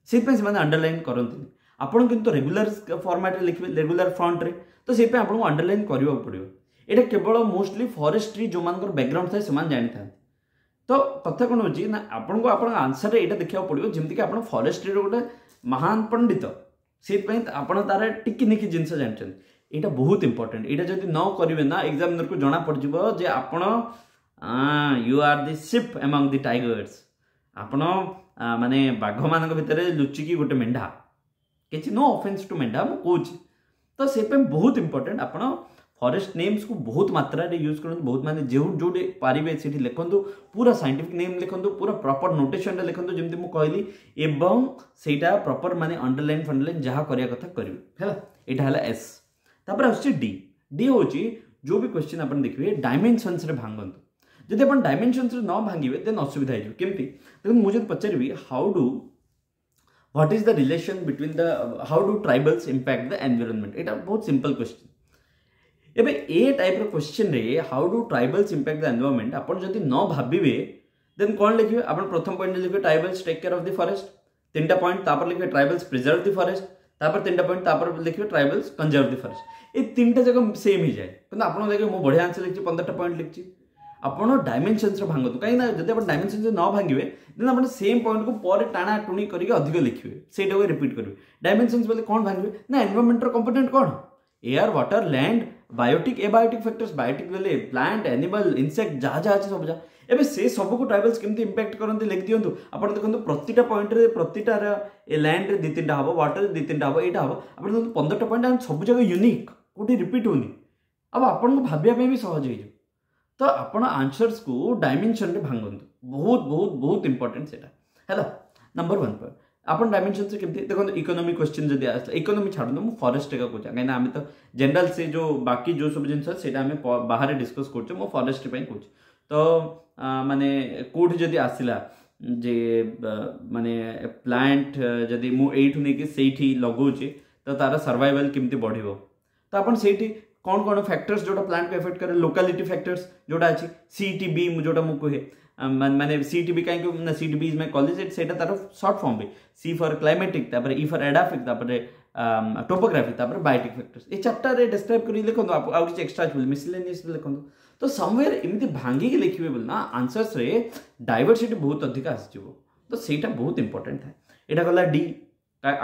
ସେଇଥିପାଇଁ ସେମାନେ ଅଣ୍ଡରଲାଇନ୍ କରନ୍ତିନି। ଆପଣ କିନ୍ତୁ ରେଗୁଲାର ଫର୍ମାଟ୍ରେ ଲେଖିବେ, ରେଗୁଲାର ଫ୍ରଣ୍ଟରେ, ତ ସେଇଥିପାଇଁ ଆପଣଙ୍କୁ ଅଣ୍ଡରଲାଇନ୍ କରିବାକୁ ପଡ଼ିବ। ଏଇଟା କେବଳ ମୋଷ୍ଟଲି ଫରେଷ୍ଟ୍ରି ଯେଉଁମାନଙ୍କର ବ୍ୟାକଗ୍ରାଉଣ୍ଡ ଥାଏ ସେମାନେ ଜାଣିଥାନ୍ତି। ତ କଥା କ'ଣ ହେଉଛି ନା ଆପଣଙ୍କୁ ଆପଣଙ୍କ ଆନ୍ସର୍ରେ ଏଇଟା ଦେଖିବାକୁ ପଡ଼ିବ ଯେମିତିକି ଆପଣ ଫରେଷ୍ଟ୍ରିର ଗୋଟେ ମହାନ ପଣ୍ଡିତ, ସେଇଥିପାଇଁ ଆପଣ ତାର ଟିକି ନିକି ଜିନିଷ ଜାଣିଛନ୍ତି। ଏଇଟା ବହୁତ ଇମ୍ପୋର୍ଟାଣ୍ଟ। ଏଇଟା ଯଦି ନ କରିବେ ନା, ଏକ୍ଜାମିନରକୁ ଜଣା ପଡ଼ିଯିବ ଯେ ଆପଣ you are the sheep among the tigers, ଆପଣ ମାନେ ବାଘମାନଙ୍କ ଭିତରେ ଲୁଚିକି ଗୋଟେ ମେଣ୍ଢା। କିଛି ନୋ ଅଫେନ୍ସ ଟୁ ମେଣ୍ଢା, ମୁଁ କହୁଛି। ତ ସେଇଥିପାଇଁ ବହୁତ ଇମ୍ପୋର୍ଟାଣ୍ଟ ଆପଣ ଫରେଷ୍ଟ ନେମ୍ସକୁ ବହୁତ ମାତ୍ରାରେ ୟୁଜ୍ କରନ୍ତୁ, ବହୁତ ମାନେ ଯେଉଁ ଯେଉଁଠି ପାରିବେ ସେଠି ଲେଖନ୍ତୁ, ପୁରା ସାଇଣ୍ଟିଫିକ୍ ନେମ୍ ଲେଖନ୍ତୁ, ପୁରା ପ୍ରପର ନୋଟେସନ୍ରେ ଲେଖନ୍ତୁ ଯେମିତି ମୁଁ କହିଲି, ଏବଂ ସେଇଟା ପ୍ରପର ମାନେ ଅଣ୍ଡରଲାଇନ୍ ଫଣ୍ଡରଲାଇନ୍ ଯାହା କରିବା କଥା କରିବେ। ହେଲା, ଏଇଟା ହେଲା ଏସ୍। ତାପରେ ଆସୁଛି ଡି। ଡି ହେଉଛି ଯେଉଁ ବି କ୍ୱେଶ୍ଚିନ୍ ଆପଣ ଦେଖିବେ ଡାଇମେନସନ୍ସରେ ଭାଙ୍ଗନ୍ତୁ। ଯଦି ଆପଣ ଡାଇମେନସନ୍ସରେ ନ ଭାଙ୍ଗିବେ ଦେନ୍ ଅସୁବିଧା ହେଇଯିବ। କେମିତି? ଦେଖନ୍ତୁ, ମୁଁ ଯଦି ପଚାରିବି how do what is the relation between the how do tribals impact the environment, ଏଇଟା ବହୁତ ସିମ୍ପଲ୍ କ୍ୱେଶ୍ଚିନ୍। ଏବେ ଏ ଟାଇପ୍ର କ୍ୱେଶ୍ଚିନ୍ରେ how do tribals impact the environment ଆପଣ ଯଦି ନ ଭାବିବେ, ଦେନ୍ କ'ଣ ଲେଖିବେ? ଆପଣ ପ୍ରଥମ ପଏଣ୍ଟ ଲେଖିବେ tribals take care of the forest, ତିନିଟା ପଏଣ୍ଟ। ତାପରେ ଲେଖିବେ ଟ୍ରାଇବାଲ୍ସ ପ୍ରିଜର୍ଭ ଦି ଫରେଷ୍ଟ, ତାପରେ ତିନିଟା ପଏଣ୍ଟ। ତାପରେ ଲେଖିବେ ଟ୍ରାଇବାଲ୍ସ କନଜର୍ଭ ଦି ଫରେଷ୍ଟ। ଏ ତିନିଟା ଯାକ ସେମ୍ ହେଇଯାଏ। କିନ୍ତୁ ଆପଣ ଦେଖିବେ, ମୁଁ ବଢ଼ିଆ ଆନ୍ସର ଲେଖିଛି, 15ଟା ପଏଣ୍ଟ ଲେଖିଛି। ଆପଣ ଡାଇମେନସନ୍ସରେ ଭାଙ୍ଗନ୍ତୁ, କାହିଁକିନା ଯଦି ଆପଣ ଡାଇମେନସନ୍ସରେ ନ ଭାଙ୍ଗିବେ, ଦେନ୍ ଆପଣ ସେମ୍ ପଏଣ୍ଟକୁ ପରେ ଟାଣା ଟୁଣି କରିକି ଅଧିକ ଲେଖିବେ, ସେଇଟାକୁ ରିପିଟ୍ କରିବେ। ଡାଇମେନସନ୍ସ ବୋଲେ କ'ଣ ଭାଙ୍ଗିବେ ନା ଏନଭାରମେଣ୍ଟର କମ୍ପୋନେଣ୍ଟ କ'ଣ? Air, water, land, biotic, abiotic factors. Biotic ବୋଲେ ପ୍ଲାଣ୍ଟ, ଆନିମାଲ, ଇନସେକ୍ଟ, ଯାହା ଯାହା ଅଛି ସବୁ ଯାହା। ଏବେ ସେ ସବୁକୁ ଟ୍ରାଇବାଲ୍ସ କେମିତି ଇମ୍ପାକ୍ଟ କରନ୍ତି ଲେଖିଦିଅନ୍ତୁ। ଆପଣ ଦେଖନ୍ତୁ, ପ୍ରତିଟା ପଏଣ୍ଟରେ, ପ୍ରତିଟାର ଏ ଲ୍ୟାଣ୍ଡରେ ଦୁଇ ତିନିଟା ହେବ, ୱାଟରରେ ଦୁଇ ତିନିଟା ହେବ, ଏଇଟା ହେବ। ଆପଣ ଦେଖନ୍ତୁ, 15ଟା ପଏଣ୍ଟ ସବୁ ଜାଗା ୟୁନିକ୍, କେଉଁଠି ରିପିଟ୍ ହେଉନି, ଆଉ ଆପଣଙ୍କୁ ଭାବିବା ପାଇଁ ବି ସହଜ ହେଇଯିବ। ତ ଆପଣ ଆନ୍ସର୍ସକୁ ଡାଇମେନସନରେ ଭାଙ୍ଗନ୍ତୁ, ବହୁତ ବହୁତ ବହୁତ ଇମ୍ପର୍ଟାଣ୍ଟ ସେଇଟା ହେଲା ନମ୍ବର ୱାନ୍ ପଏଣ୍ଟ। ଆପଣ ଡାଇମେନସନ୍ସ କେମିତି ଦେଖନ୍ତୁ, ଇକୋନୋମି କ୍ୱେଶ୍ଚିନ୍ ଯଦି ଆସିଲା, ଇକୋନୋମି ଛାଡ଼ନ୍ତୁ, ମୁଁ ଫରେଷ୍ଟ ଏକା କହୁଛି, କାହିଁକିନା ଆମେ ତ ଜେନେରାଲ ସେ ଯେଉଁ ବାକି ଯେଉଁ ସବୁ ଜିନିଷ ସେଇଟା ଆମେ ବାହାରେ ଡିସ୍କସ୍ କରୁଛେ, ମୁଁ ଫରେଷ୍ଟ ପାଇଁ କହୁଛି। ତ ମାନେ କେଉଁଠି ଯଦି ଆସିଲା ଯେ ମାନେ ପ୍ଲାଣ୍ଟ ଯଦି ମୁଁ ଏଇଠୁ ନେଇକି ସେଇଠି ଲଗାଉଛି, ତ ତାର ସର୍ଭାଇଭାଲ୍ କେମିତି ବଢ଼ିବ, ତ ଆପଣ ସେଇଠି କ'ଣ କ'ଣ ଫ୍ୟାକ୍ଟର୍ସ ଯେଉଁଟା ପ୍ଲାଣ୍ଟକୁ ଏଫେକ୍ଟ କରେ, ଲୋକାଲିଟି ଫ୍ୟାକ୍ଟର୍ସ ଯେଉଁଟା ଅଛି, CTB ଯେଉଁଟା ମୁଁ କୁହେ, ମାନେ CTB କାହିଁକି ନା CTB is my college, ସେଇଟା ତାର short form B. C for climatic, ତାପରେ ଇ ଫର୍ ଏଡାଫିକ୍, ତାପରେ ଟୋପୋଗ୍ରାଫି, ତାପରେ ବାୟୋଟିକ୍ ଫ୍ୟାକ୍ଟର୍ସ। ଏ ଚାରିଟାରେ ଡେସ୍କ୍ରାଇବ୍ କରି ଲେଖନ୍ତୁ। ଆଉ କିଛି ଏକ୍ସଟ୍ରା ଅଛି ବୋଲି ମିସଲେନିୟସ୍ ଲେଖନ୍ତୁ। ତ ସମୱେର୍ ଏମିତି ଭାଙ୍ଗିକି ଲେଖିବେ ବୋଲି ନା ଆନ୍ସର୍ସରେ ଡାଇଭରସିଟି ବହୁତ ଅଧିକ ଆସିଯିବ। ତ ସେଇଟା ବହୁତ ଇମ୍ପର୍ଟାଣ୍ଟ ଥାଏ। ଏଇଟା ଗଲା ଡି।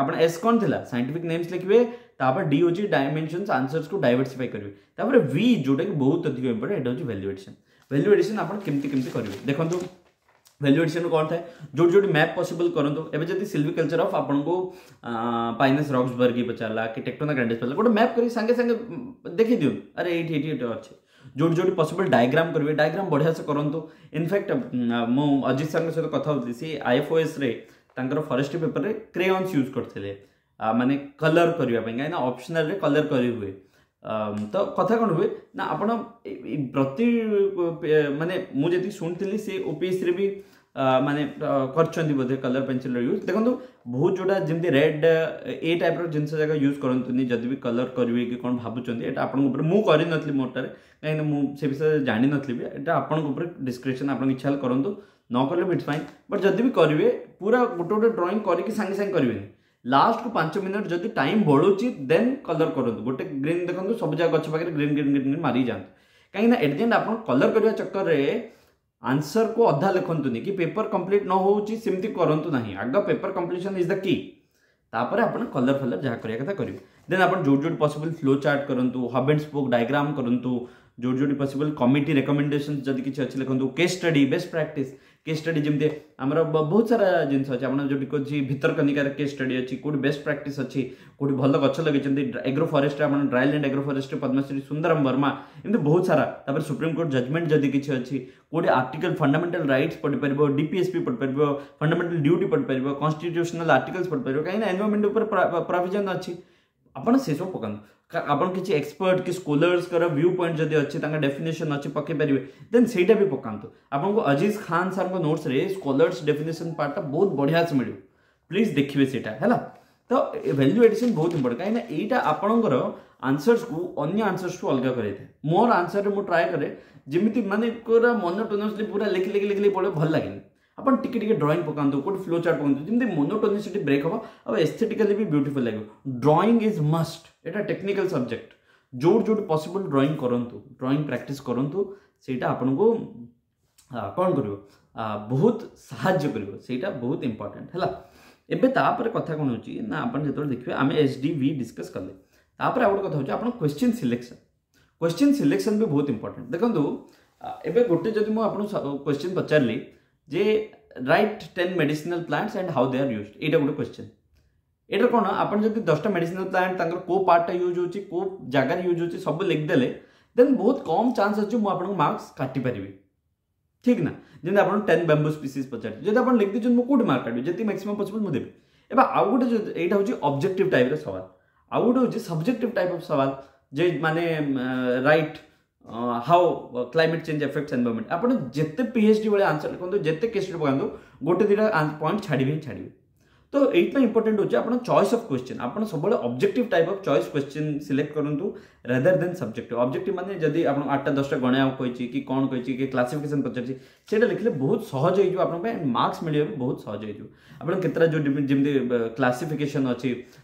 ଆପଣ ଏସ୍ କ'ଣ ଥିଲା? ସାଇଣ୍ଟିଫିକ୍ ନେମ୍ସ ଲେଖିବେ। ତାପରେ ଡି ହେଉଛି ଡାଇମେନସନ୍ସ, ଆନ୍ସର୍ସକୁ ଡାଇଭରସିଫାଇ କରିବେ। ତାପରେ ଭି, ଯେଉଁଟାକି ବହୁତ ଅଧିକ ଇମ୍ପର୍ଟାଣ୍ଟ, ଏଇଟା ହେଉଛି ଭ୍ୟାଲ୍ୟୁ ଏଡିସନ୍। ଭ୍ୟାଲ୍ୟୁ ଏଡିସନ୍ ଆପଣ କେମିତି କେମିତି କରିବେ ଦେଖନ୍ତୁ। ଭ୍ୟାଲ୍ୟୁ ଏଡିସନ୍ କ'ଣ ଥାଏ? ଯେଉଁଠି ଯେଉଁଠି ମ୍ୟାପ୍ ପସିବଲ୍ କରନ୍ତୁ। ଏବେ ଯଦି ସିଲଭିକଲଚର ଅଫ୍ ଆପଣଙ୍କୁ ପାଇନସ୍ ରକ୍ସବର୍ଗି ପଚାରିଲା କି ଟେକ୍ଟୋନା ଗ୍ରାଣ୍ଡିସ୍ ପଚାରିଲା, ଗୋଟେ ମ୍ୟାପ୍ କରି ସାଙ୍ଗେ ସାଙ୍ଗେ ଦେଖି ଦିଅନ୍ତୁ, ଆରେ ଏଇଠି ଏଇଠି ଏଇଠି ଅଛି। ଯେଉଁଠି ଯେଉଁଠି ପସିବଲ୍ ଡାଇଗ୍ରାମ୍ କରିବେ, ଡାଇଗ୍ରାମ୍ ବଢ଼ିଆ ସେ କରନ୍ତୁ। ଇନଫ୍ୟାକ୍ଟ ମୁଁ ଅଜିତ ସାର୍ଙ୍କ ସହିତ କଥା ହେଉଥିଲି, ସେ ଆଇଏଫ୍ଓଏସ୍ରେ ତାଙ୍କର ଫରେଷ୍ଟ୍ରି ପେପରରେ କ୍ରେୟନ୍ସ ୟୁଜ୍ କରିଥିଲେ, ମାନେ କଲର୍ କରିବା ପାଇଁ, କାହିଁକିନା ଅପସନାଲରେ କଲର୍ କରି ହୁଏ। ତ କଥା କ'ଣ ହୁଏ ନା ଆପଣ ପ୍ରତି ମାନେ ମୁଁ ଯେତିକି ଶୁଣିଥିଲି, ସେ ଓପିଏସ୍ସିରେ ବି ମାନେ କରିଛନ୍ତି ବୋଧେ କଲର୍ ପେନ୍ସିଲ୍ର ୟୁଜ୍। ଦେଖନ୍ତୁ, ବହୁତ ଯେଉଁଟା ଯେମିତି ରେଡ୍ ଏ ଟାଇପ୍ର ଜିନିଷ ଯାକ ୟୁଜ୍ କରନ୍ତୁନି ଯଦି ବି କଲର୍ କରିବେ କି କ'ଣ ଭାବୁଛନ୍ତି। ଏଇଟା ଆପଣଙ୍କ ଉପରେ। ମୁଁ କରିନଥିଲି ମୋଟାରେ, କାହିଁକିନା ମୁଁ ସେ ବିଷୟରେ ଜାଣିନଥିଲି ବି। ଏଇଟା ଆପଣଙ୍କ ଉପରେ ଡିସ୍କ୍ରିପସନ୍, ଆପଣଙ୍କ ଇଚ୍ଛା ହେଲେ କରନ୍ତୁ, ନ କଲେ ବି it's fine. But ଯଦି ବି କରିବେ, ପୁରା ଗୋଟେ ଗୋଟେ ଡ୍ରଇଂ କରିକି ସାଙ୍ଗେ ସାଙ୍ଗେ କରିବେନି। ଲାଷ୍ଟକୁ 5 ମିନିଟ୍ ଯଦି ଟାଇମ୍ ବଳୁଛି, ଦେନ୍ କଲର୍ କରନ୍ତୁ। ଗୋଟେ ଗ୍ରୀନ୍ ଦେଖନ୍ତୁ, ସବୁ ଯାକ ଗଛ ପାଖରେ ଗ୍ରୀନ୍ ଗ୍ରୀନ୍ ଗ୍ରୀନ୍ ଗ୍ରୀନ୍ ମାରିକି ଯାଆନ୍ତୁ, କାହିଁକିନା ଏଟ୍ the end ଆପଣ କଲର୍ କରିବା ଚକ୍କରରେ ଆନ୍ସର୍କୁ ଅଧା ଲେଖନ୍ତୁନି କି ପେପର କମ୍ପ୍ଲିଟ୍ ନ ହେଉଛି ସେମିତି କରନ୍ତୁ ନାହିଁ। ଆଗ paper completion is the key, ତାପରେ ଆପଣ କଲର୍ ଫଲର୍ ଯାହା କରିବା କଥା କରିବେ। ଦେନ୍ ଆପଣ ଯେଉଁଠି ଯେଉଁଠି ପସିବଲ୍ ଫ୍ଲୋ ଚାର୍ଟ କରନ୍ତୁ, ହବ୍ ଆଣ୍ଡ ସ୍ପୋକ୍ ଡାଇଗ୍ରାମ୍ କରନ୍ତୁ, ଯେଉଁଠି ଯେଉଁଠି ପସିବଲ୍ କମିଟି ରେକମେଣ୍ଡେସନ୍ ଯଦି କିଛି ଅଛି ଲେଖନ୍ତୁ, case study, best practice case study। ଯେମିତି ଆମର ବହୁତ ସାରା ଜିନିଷ ଅଛି, ଆପଣ ଯେଉଁଠି କହୁଛି ଭିତରକନିକାର କେସ୍ ଷ୍ଟଡି ଅଛି, କେଉଁଠି ବେଷ୍ଟ ପ୍ରାକ୍ଟିସ୍ ଅଛି, କେଉଁଠି ଭଲ ଗଛ ଲଗେଇଛନ୍ତି ଏଗ୍ରୋ ଫରେଷ୍ଟରେ, ଆପଣ ଡ୍ରାଇଲ୍ୟାଣ୍ଡ ଏଗ୍ରୋ ଫରେଷ୍ଟରେ ପଦ୍ମଶ୍ରୀ ସୁନ୍ଦରମ ବର୍ମା, ଏମିତି ବହୁତ ସାରା। ତାପରେ ସୁପ୍ରିମକୋର୍ଟ ଜଜମେଣ୍ଟ ଯଦି କିଛି ଅଛି, କେଉଁଠି ଆର୍ଟିକଲ, ଫଣ୍ଡାମେଣ୍ଟାଲ ରାଇଟ୍ସ ପଢ଼ିପାରିବ, ଡିପିଏସ୍ପି ପଢ଼ିପାରିବ, ଫଣ୍ଡାମେଣ୍ଟାଲ ଡ୍ୟୁଟି ପଢ଼ିପାରିବ, କନଷ୍ଟିଟ୍ୟୁସନାଲ ଆର୍ଟିକଲ୍ସ ପଢ଼ିପାରିବ, କାହିଁକିନା ଏନଭାରମେଣ୍ଟ ଉପରେ ପ୍ରୋଭିଜନ୍ ଅଛି, ଆପଣ ସେସବୁ ପକାନ୍ତୁ। ଆପଣ କିଛି ଏକ୍ସପର୍ଟ କି ସ୍କଲର୍ସଙ୍କର ଭ୍ୟୁ ପଏଣ୍ଟ ଯଦି ଅଛି, ତାଙ୍କ ଡେଫିନେସନ୍ ଅଛି, ପକାଇ ପାରିବେ, ଦେନ୍ ସେଇଟା ବି ପକାନ୍ତୁ। ଆପଣଙ୍କୁ ଅଜିଜ ଖାନ ସାର୍ଙ୍କ ନୋଟ୍ସରେ ସ୍କଲର୍ସ ଡେଫିନେସନ୍ ପାର୍ଟଟା ବହୁତ ବଢ଼ିଆ ସେ ମିଳିବ, ପ୍ଲିଜ୍ ଦେଖିବେ ସେଇଟା ହେଲା। ତ ଭ୍ୟାଲ୍ୟୁ ଏଡିସନ୍ ବହୁତ ଇମ୍ପୋର୍ଟାଣ୍ଟ, କାହିଁକିନା ଏଇଟା ଆପଣଙ୍କର ଆନ୍ସର୍ସକୁ ଅନ୍ୟ ଆନ୍ସର୍ସଠୁ ଅଲଗା କରାଇଥାଏ। ମୋର ଆନ୍ସର୍ରେ ମୁଁ ଟ୍ରାଏ କରେ ଯେମିତି ମାନେ ପୁରା ମନୋଟୋନସଲି ପୁରା ଲେଖି ଲେଖି ଲେଖି ଲେଖି ପଡ଼ିବ ଭଲ ଲାଗେନି। ଆପଣ ଟିକେ ଟିକେ ଡ୍ରଇଂ ପକାନ୍ତୁ, କେଉଁଠି ଫ୍ଲୋ ଚାର୍ଟ ପକାନ୍ତୁ, ଯେମିତି ମୋନୋଟୋନିସିଟି ବ୍ରେକ୍ ହେବ ଆଉ ଏସ୍ଥେଟିକାଲି ବି ବ୍ୟୁଟିଫୁଲ୍ ଲାଗିବ। ଡ୍ରଇଂ is ମଷ୍ଟ, ଏଇଟା ଟେକ୍ନିକାଲ ସବଜେକ୍ଟ। ଯେଉଁଠି ଯେଉଁଠି ପସିବଲ୍ ଡ୍ରଇଂ କରନ୍ତୁ, ଡ୍ରଇଂ ପ୍ରାକ୍ଟିସ୍ କରନ୍ତୁ, ସେଇଟା ଆପଣଙ୍କୁ କ'ଣ କରିବ, ବହୁତ ସାହାଯ୍ୟ କରିବ, ସେଇଟା ବହୁତ ଇମ୍ପର୍ଟାଣ୍ଟ ହେଲା। ଏବେ ତାପରେ କଥା କ'ଣ ହେଉଛି ନା ଆପଣ ଯେତେବେଳେ ଦେଖିବେ, ଆମେ SDV discus କଲେ, ତାପରେ ଆଉ ଗୋଟେ କଥା ହେଉଛି ଆପଣ କ୍ୱେଶ୍ଚିନ୍ ସିଲେକ୍ସନ୍। କ୍ୱେଶ୍ଚିନ୍ ସିଲେକ୍ସନ୍ ବି ବହୁତ ଇମ୍ପର୍ଟାଣ୍ଟ। ଦେଖନ୍ତୁ, ଏବେ ଗୋଟେ ଯଦି ମୁଁ ଆପଣଙ୍କୁ କ୍ୱେଶ୍ଚିନ୍ ପଚାରିଲି ଯେ write 10 medicinal plants and how they are used, ଏଇଟା ଗୋଟେ କ୍ୱେଶ୍ଚିନ୍। ଏଇଟା କ'ଣ, ଆପଣ ଯଦି 10ଟା ମେଡିସିନାଲ ପ୍ଲାଣ୍ଟ, ତାଙ୍କର କେଉଁ ପାର୍ଟଟା ୟୁଜ୍ ହେଉଛି, କେଉଁ ଜାଗାରେ ୟୁଜ୍ ହେଉଛି, ସବୁ ଲେଖିଦେଲେ, ଦେନ୍ ବହୁତ କମ୍ ଚାନ୍ସ ଅଛି ମୁଁ ଆପଣଙ୍କୁ ମାର୍କସ୍ କାଟିପାରିବି, ଠିକ୍ ନା? ଯେମିତି ଆପଣ 10 ବାମ୍ବୁ ସ୍ପିସିସ୍ ପଚାରିଛି, ଯଦି ଆପଣ ଲେଖିଦେଇଛନ୍ତି, ମୁଁ କେଉଁଠି ମାର୍କ କାଟିବି? ଯେତିକି ମ୍ୟାକ୍ସିମମ୍ ପସିବଲ୍ ମୁଁ ଦେବି। ଏବେ ଆଉ ଗୋଟେ, ଏଇଟା ହେଉଛି ଅବଜେକ୍ଟିଭ୍ ଟାଇପ୍ର ସୱାଲ। ଆଉ ଗୋଟେ ହେଉଛି ସବଜେକ୍ଟିଭ୍ ଟାଇପ୍ ଅଫ୍ ସୱାଲ ଯେ ମାନେ write how climate change affects environment। ଆପଣ ଯେତେ PhD ଭଳିଆ ଆନ୍ସର ଲେଖନ୍ତୁ, ଯେତେ କେସ୍ ଷ୍ଟଡି ପକାନ୍ତୁ, ଗୋଟେ ଦୁଇଟା ପଏଣ୍ଟ ଛାଡ଼ିବେ ହିଁ ଛାଡ଼ିବେ। ତ ଏଇଥିପାଇଁ ଇମ୍ପୋର୍ଟାଣ୍ଟ ହେଉଛି ଆପଣ ଚଏସ୍ ଅଫ୍ କ୍ୱେଶ୍ଚିନ୍, ଆପଣ ସବୁବେଳେ objective type of choice question select କରନ୍ତୁ ରାଦର ଦେନ୍ ସବଜେକ୍ଟିଭ୍। ଅବଜେକ୍ଟିଭ୍ ମାନେ ଯଦି ଆପଣ 8ଟା 10ଟା ଗଣିବାକୁ କହିଛି କି କ'ଣ କହିଛି କି କ୍ଲାସିଫିକେସନ୍ ପଚାରିଛି, ସେଇଟା ଲେଖିଲେ ବହୁତ ସହଜ ହେଇଯିବ ଆପଣଙ୍କ ପାଇଁ, ମାର୍କସ୍ ମିଳିବା ବି ବହୁତ ସହଜ ହେଇଯିବ। ଆପଣ କେତେଟା ଯେଉଁ ଯେମିତି କ୍ଲାସିଫିକେସନ୍ ଅଛି,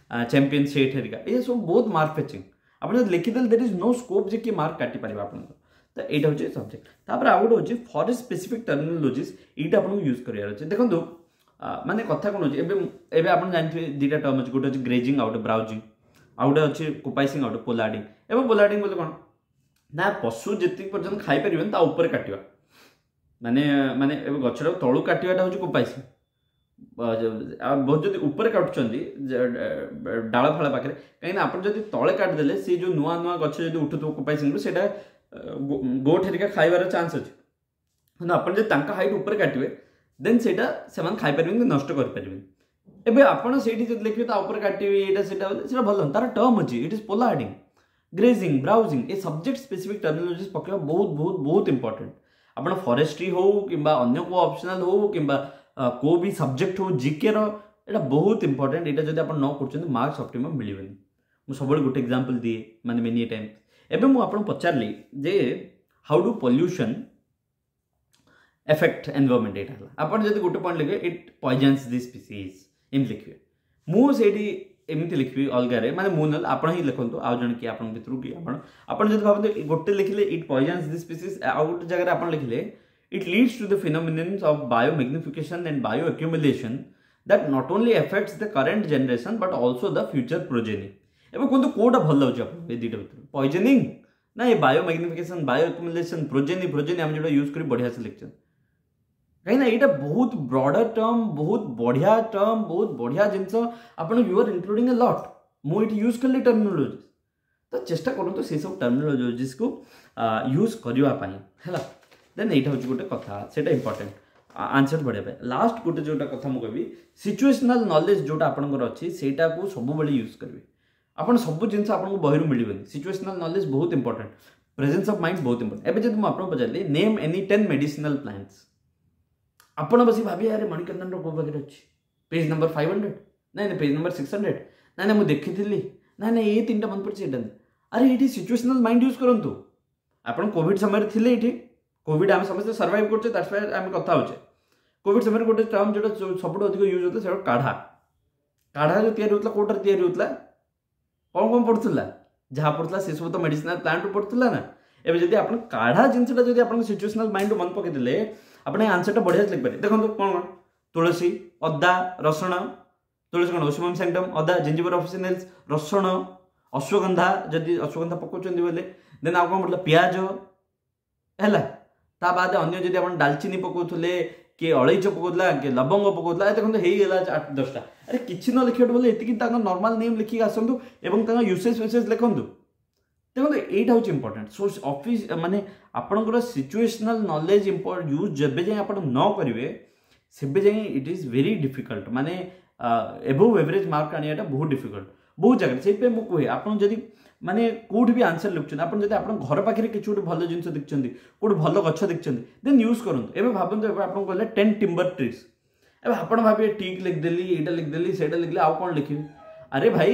ଚାମ୍ପିୟନ୍ ସେଟ୍ ହେରିକା, ଏ ସବୁ ବହୁତ ମାର୍କ ଫେଚିଂ। ଆପଣ ଯଦି ଲେଖିଦେଲେ ଦେର୍ is no scope ଯେ କିଏ ମାର୍କ କାଟିପାରିବ ଆପଣଙ୍କର। ତ ଏଇଟା ହେଉଛି ସବଜେକ୍ଟ। ତାପରେ ଆଉ ଗୋଟେ ହେଉଛି ଫରେଷ୍ଟ ସ୍ପେସିଫିକ୍ ଟର୍ମିନୋଲୋଜିସ୍, ଏଇଟା ଆପଣଙ୍କୁ ୟୁଜ୍ କରିବାର ଅଛି। ଦେଖନ୍ତୁ, ମାନେ କଥା କ'ଣ ହେଉଛି, ଏବେ ଆପଣ ଜାଣିଥିବେ 2ଟା ଟର୍ମ ଅଛି, ଗୋଟେ ଅଛି ଗ୍ରେଜିଂ ଆଉ ଗୋଟେ ବ୍ରାଉଜିଂ, ଆଉ ଗୋଟେ ଅଛି କୋପାଇସିଂ ଆଉ ଗୋଟେ ପୋଲାର୍ଡିଂ। ଏବଂ ପୋଲାର୍ଡିଂ ବୋଲେ କ'ଣ ନା ପଶୁ ଯେତିକି ପର୍ଯ୍ୟନ୍ତ ଖାଇପାରିବେନି ତା ଉପରେ କାଟିବା, ମାନେ ମାନେ ଏବେ ଗଛଟାକୁ ତଳୁ କାଟିବାଟା ହେଉଛି କୋପାଇସିଂ। ଆଉ ବହୁତ ଯଦି ଉପରେ କାଟୁଛନ୍ତି ଡାଳ ଫାଳ ପାଖରେ, କାହିଁକିନା ଆପଣ ଯଦି ତଳେ କାଟିଦେଲେ ସେ ଯେଉଁ ନୂଆ ନୂଆ ଗଛ ଯଦି ଉଠୁଥିବ କୋପାଇସିଂରୁ, ସେଇଟା ଗୋଠ ହେରିକା ଖାଇବାର ଚାନ୍ସ ଅଛି। କିନ୍ତୁ ଆପଣ ଯଦି ତାଙ୍କ ହାଇଟ୍ ଉପରେ କାଟିବେ, ଦେନ୍ ସେଇଟା ସେମାନେ ଖାଇପାରିବେନି କି ନଷ୍ଟ କରିପାରିବେନି। ଏବେ ଆପଣ ସେଇଠି ଯଦି ଲେଖିବେ ତା ଉପରେ କାଟିବେ ଏଇଟା ସେଇଟା, ସେଇଟା ଭଲ। ତାର ଟର୍ମ ଅଛି, it is pollarding, grazing, browsing. A subject specific ଟର୍ମିନୋଲୋଜିସ୍ ପକାଇବା ବହୁତ ବହୁତ ବହୁତ ଇମ୍ପୋର୍ଟାଣ୍ଟ। ଆପଣ ଫରେଷ୍ଟ୍ରି ହଉ କିମ୍ବା ଅନ୍ୟ କେଉଁ ଅପସନାଲ୍ ହଉ କିମ୍ବା କେଉଁ ବି ସବଜେକ୍ଟ ହଉ ଜିକେର, ଏଇଟା ବହୁତ ଇମ୍ପୋର୍ଟାଣ୍ଟ। ଏଇଟା ଯଦି ଆପଣ ନ କରୁଛନ୍ତି, ମାର୍କସ୍ ଅପ୍ଟିମମ୍ ମିଳିବନି। ମୁଁ ସବୁବେଳେ ଗୋଟେ ଏକ୍ଜାମ୍ପଲ୍ ଦିଏ, ମାନେ ମେନି ଟାଇମ୍। ଏବେ ମୁଁ ଆପଣଙ୍କୁ ପଚାରିଲି ଯେ how do pollution affect environment, ଏଇଟା ହେଲା। ଆପଣ ଯଦି ଗୋଟେ ପଏଣ୍ଟ ଲେଖିବେ ଇଟ୍ ପଏଜନ୍ସ ଦି ସ୍ପିସିଜ୍, ଏମିତି ଲେଖିବେ। ମୁଁ ସେଇଠି ଏମିତି ଲେଖିବି ଅଲଗାରେ, ମାନେ ମୁଁ ନହେଲେ ଆପଣ ହିଁ ଲେଖନ୍ତୁ, ଆଉ ଜଣେ କିଏ ଆପଣଙ୍କ ଭିତରୁ କି ଆପଣ ଯଦି ଭାବନ୍ତୁ ଗୋଟେ ଲେଖିଲେ ଇଟ୍ ପଏଜନ୍ସ ଦି ସ୍ପିସିଜ୍, ଆଉ ଗୋଟେ ଜାଗାରେ ଆପଣ ଲେଖିଲେ it leads to the phenomenons of biomagnification and bioaccumulation that not only affects the current generation but also the future progeny। ଏବେ କୁହନ୍ତୁ କୋଉଟା ଭଲ ଲାଗୁଛି ଆପଣଙ୍କୁ ଏ 2ଟା ଭିତରୁ, ପଏଜନିଂ ନା ଏ ବାୟୋ ମ୍ୟାଗ୍ନିଫିକେସନ୍, ବାୟୋ ଆକ୍ୟୁମୁଲେସନ୍, ପ୍ରୋଜେନି? ପ୍ରୋଜେନି ଆମେ ଯେଉଁଟା ୟୁଜ୍ କରି ବଢ଼ିଆ ସେ ଲେଖିଛନ୍ତି, କାହିଁକିନା ଏଇଟା ବହୁତ ବ୍ରଡର ଟର୍ମ, ବହୁତ ବଢ଼ିଆ ଟର୍ମ, ବହୁତ ବଢ଼ିଆ ଜିନିଷ। ଆପଣ you are including a lot. ମୁଁ ଏଇଠି ୟୁଜ୍ କଲି ଟର୍ମିନୋଲୋଜି, ତ ଚେଷ୍ଟା କରନ୍ତୁ ସେସବୁ ଟର୍ମିନୋଲୋଜିସ୍କୁ ୟୁଜ୍ କରିବା ପାଇଁ, ହେଲା। ଦେନ୍ ଏଇଟା ହେଉଛି ଗୋଟେ କଥା, ସେଇଟା ଇମ୍ପୋର୍ଟାଣ୍ଟ ଆନ୍ସର୍ ବଢ଼ିବା ପାଇଁ। ଲାଷ୍ଟ ଗୋଟେ ଯେଉଁଟା କଥା ମୁଁ କହିବି, ସିଚୁଏସନାଲ୍ ନଲେଜ୍ ଯେଉଁଟା ଆପଣଙ୍କର ଅଛି ସେଇଟାକୁ ସବୁବେଳେ ୟୁଜ୍ କରିବେ ଆପଣ। ସବୁ ଜିନିଷ ଆପଣଙ୍କୁ ବହିରୁ ମିଳିବନି। ସିଚୁଏସନାଲ୍ ନଲେଜ୍ ବହୁତ ଇମ୍ପୋର୍ଟାଣ୍ଟ, ପ୍ରେଜେନ୍ସ ଅଫ୍ ମାଇଣ୍ଡ ବହୁତ ଇମ୍ପୋର୍ଟାଣ୍ଟ। ଏବେ ଯଦି ମୁଁ ଆପଣଙ୍କୁ ପଚାରିଲି ନେମ୍ ଏନି 10 ମେଡିସିନାଲ୍ ପ୍ଲାଣ୍ଟସ୍, ଆପଣ ବସି ଭାବିବେ ଆରେ ମଣିକନ୍ଦନର କେଉଁ ପାଖରେ ଅଛି, ପେଜ୍ ନମ୍ବର 500, ନାଇଁ ନାଇଁ ପେଜ୍ ନମ୍ବର 600, ନାଇଁ ନାଇଁ ମୁଁ ଦେଖିଥିଲି, ନାଇଁ ନାଇଁ ଏଇ 3ଟା ମନେ ପଡ଼ିଛି ଏଇଟା। ଆରେ ଏଇଠି ସିଚୁଏସନାଲ୍ ମାଇଣ୍ଡ ୟୁଜ୍ କରନ୍ତୁ। ଆପଣ କୋଭିଡ଼ ସମୟରେ ଥିଲେ, ଏଇଠି କୋଭିଡ଼ ଆମେ ସମସ୍ତେ ସର୍ଭାଇଭ୍ କରୁଛେ, that's Y ଆମେ କଥା ହେଉଛେ। କୋଭିଡ଼ ସମୟରେ ଗୋଟେ ଟର୍ମ ଯେଉଁଟା ସବୁଠୁ ଅଧିକ ୟୁଜ୍ ହେଉଥିଲା ସେଇଟା କାଢ଼ା। କାଢ଼ା ଯେଉଁ ତିଆରି ହେଉଥିଲା, କେଉଁଟାରେ ତିଆରି ହେଉଥିଲା, କ'ଣ କ'ଣ ପଡ଼ୁଥିଲା, ଯାହା ପଡ଼ୁଥିଲା ସେସବୁ ତ ମେଡିସିନାଲ୍ ପ୍ଲାଣ୍ଟରୁ ପଡ଼ୁଥିଲା ନା। ଏବେ ଯଦି ଆପଣ କାଢ଼ା ଜିନିଷଟା ଯଦି ଆପଣଙ୍କ ସିଚୁଏସନାଲ୍ ମାଇଣ୍ଡରୁ ମନେ ପକେଇଦେଲେ, ଆପଣ ଏ ଆନ୍ସରଟା ବଢ଼ିଆ ଲେଖିପାରିବେ। ଦେଖନ୍ତୁ କ'ଣ କ'ଣ, ତୁଳସୀ, ଅଦା, ରସୁଣ। ତୁଳସୀ କ'ଣ ଓସିମମ୍ ସାଙ୍କ୍ଟମ୍, ଅଦା ଜିଞ୍ଜିବର ଅଫିସିନାଲ୍ସ, ରସୁଣ, ଅଶ୍ୱଗନ୍ଧା ଯଦି ଅଶ୍ୱଗନ୍ଧା ପକାଉଛନ୍ତି ବୋଲେ, ଦେନ୍ ଆଉ କ'ଣ ପଡ଼ିଲା, ପିଆଜ ହେଲା। ତା ବାଦ ଅନ୍ୟ ଯଦି ଆପଣ ଡାଲଚିନି ପକାଉଥିଲେ, କିଏ ଅଳେଇଚ ପକାଉଥିଲା, କିଏ ଲବଙ୍ଗ ପକାଉଥିଲା, ଦେଖନ୍ତୁ ହେଇଗଲା 8 10ଟା। ଆରେ କିଛି ନ ଲେଖିବାକୁ ବୋଲେ ଏତିକି ତାଙ୍କ ନର୍ମାଲ ନେମ୍ ଲେଖିକି ଆସନ୍ତୁ ଏବଂ ତାଙ୍କ ୟୁସେଜ୍ ଫ୍ୟୁସେଜ୍ ଲେଖନ୍ତୁ। ଦେଖନ୍ତୁ ଏଇଟା ହେଉଛି ଇମ୍ପୋର୍ଟାଣ୍ଟ। ସୋ ଅଫିସ୍ ମାନେ ଆପଣଙ୍କର ସିଚୁଏସନାଲ୍ ନଲେଜ୍ ୟୁଜ୍ ଯେବେ ଯାଏଁ ଆପଣ ନ କରିବେ, ସେବେ ଯାଏଁ it is very difficult, ମାନେ ଏବୋଭ୍ ଏଭରେଜ୍ ମାର୍କ ଆଣିବାଟା ବହୁତ ଡିଫିକଲ୍ଟ ବହୁତ ଜାଗାରେ। ସେଇଥିପାଇଁ ମୁଁ କୁହେ, ଆପଣ ଯଦି ମାନେ କେଉଁଠି ବି ଆନ୍ସର୍ ଲେଖୁଛନ୍ତି, ଆପଣ ଯଦି ଆପଣଙ୍କ ଘର ପାଖରେ କିଛି ଗୋଟେ ଭଲ ଜିନିଷ ଦେଖିଛନ୍ତି, କେଉଁଠି ଭଲ ଗଛ ଦେଖିଛନ୍ତି, ଦେନ୍ ୟୁଜ୍ କରନ୍ତୁ। ଏବେ ଭାବନ୍ତୁ, ଏବେ ଆପଣଙ୍କୁ କହିଲେ 10 ଟିମ୍ବର ଟ୍ରିଜ୍, ଏବେ ଆପଣ ଭାବିବେ ଟିକ୍ ଲେଖିଦେଲି, ଏଇଟା ଲେଖିଦେଲି, ସେଇଟା ଲେଖିଲି, ଆଉ କ'ଣ ଲେଖିବି? ଆରେ ଭାଇ,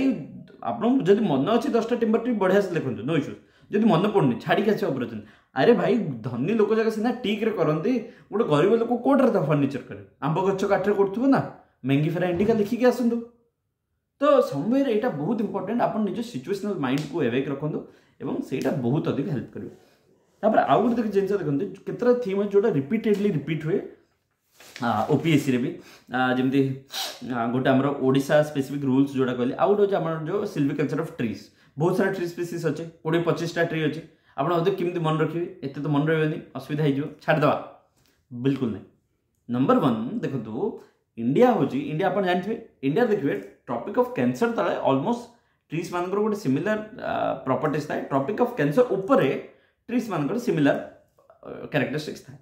ଆପଣଙ୍କୁ ଯଦି ମନେ ଅଛି 10ଟା ଟିମ୍ବର ଟ୍ରି, ବଢ଼ିଆ ସେ ଲେଖନ୍ତୁ, ନୋ ଇସ୍ୟୁଜ୍। ଯଦି ମନେ ପଡ଼ୁନି, ଛାଡ଼ିକି ଆସିବା ଉପରେ ଅଛନ୍ତି। ଆରେ ଭାଇ, ଧନୀ ଲୋକ ଯାକ ସିନା ଟିକ୍ରେ କରନ୍ତି, ଗୋଟେ ଗରିବ ଲୋକ କେଉଁଟାରେ ତା ଫର୍ଣ୍ଣିଚର କରେ? ଆମ୍ବ ଗଛ କାଠରେ କରୁଥିବ ନା, ମେଙ୍ଗିଫେରା ଇଣ୍ଡିକା ଲେଖିକି ଆସନ୍ତୁ। ତ ସମୟରେ ଏଇଟା ବହୁତ ଇମ୍ପୋର୍ଟାଣ୍ଟ, ଆପଣ ନିଜ ସିଚୁଏସନାଲ୍ ମାଇଣ୍ଡକୁ ଏୱେକ୍ ରଖନ୍ତୁ ଏବଂ ସେଇଟା ବହୁତ ଅଧିକ ହେଲ୍ପ କରିବ। ତାପରେ ଆଉ ଗୋଟେ ଜିନିଷ ଦେଖନ୍ତୁ, କେତେଟା ଥିମ୍ ଅଛି ଯେଉଁଟା ରିପିଟେଡ଼ଲି ରିପିଟ୍ ହୁଏ ଓପିଏସ୍ସିରେ ବି, ଯେମିତି ଗୋଟେ ଆମର ଓଡ଼ିଶା ସ୍ପେସିଫିକ୍ ରୁଲ୍ସ ଯେଉଁଟା କହିଲି, ଆଉ ଗୋଟେ ହେଉଛି ଆମର ଯେଉଁ ସିଲଭିକଲଚର ଅଫ୍ ଟ୍ରିଜ୍। ବହୁତ ସାରା ଟ୍ରି ସ୍ପିସିସ୍ ଅଛି, 20 25ଟା ଟ୍ରି ଅଛି। ଆପଣ ଭାବୁଥିବେ କେମିତି ମନେ ରଖିବେ, ଏତେ ତ ମନେ ରହିବନି, ଅସୁବିଧା ହେଇଯିବ, ଛାଡ଼ିଦେବା, ବିଲକୁଲ ନାହିଁ। ନମ୍ବର 1 ଦେଖନ୍ତୁ, ଇଣ୍ଡିଆ ହେଉଛି, ଇଣ୍ଡିଆ ଆପଣ ଜାଣିଥିବେ, ଇଣ୍ଡିଆ ଦେଖିବେ ଟ୍ରପିକ୍ ଅଫ୍ କ୍ୟାନ୍ସର ତଳେ ଅଲମୋଷ୍ଟ ଟ୍ରିଜ୍ ମାନଙ୍କର ଗୋଟେ ସିମିଲାର ପ୍ରପର୍ଟିଜ୍ ଥାଏ। ଟ୍ରପିକ୍ ଅଫ୍ କ୍ୟାନ୍ସର ଉପରେ ଟ୍ରିଜ୍ ମାନଙ୍କର ସିମିଲାର କ୍ୟାରେକ୍ଟରିଷ୍ଟିକ୍ସ ଥାଏ।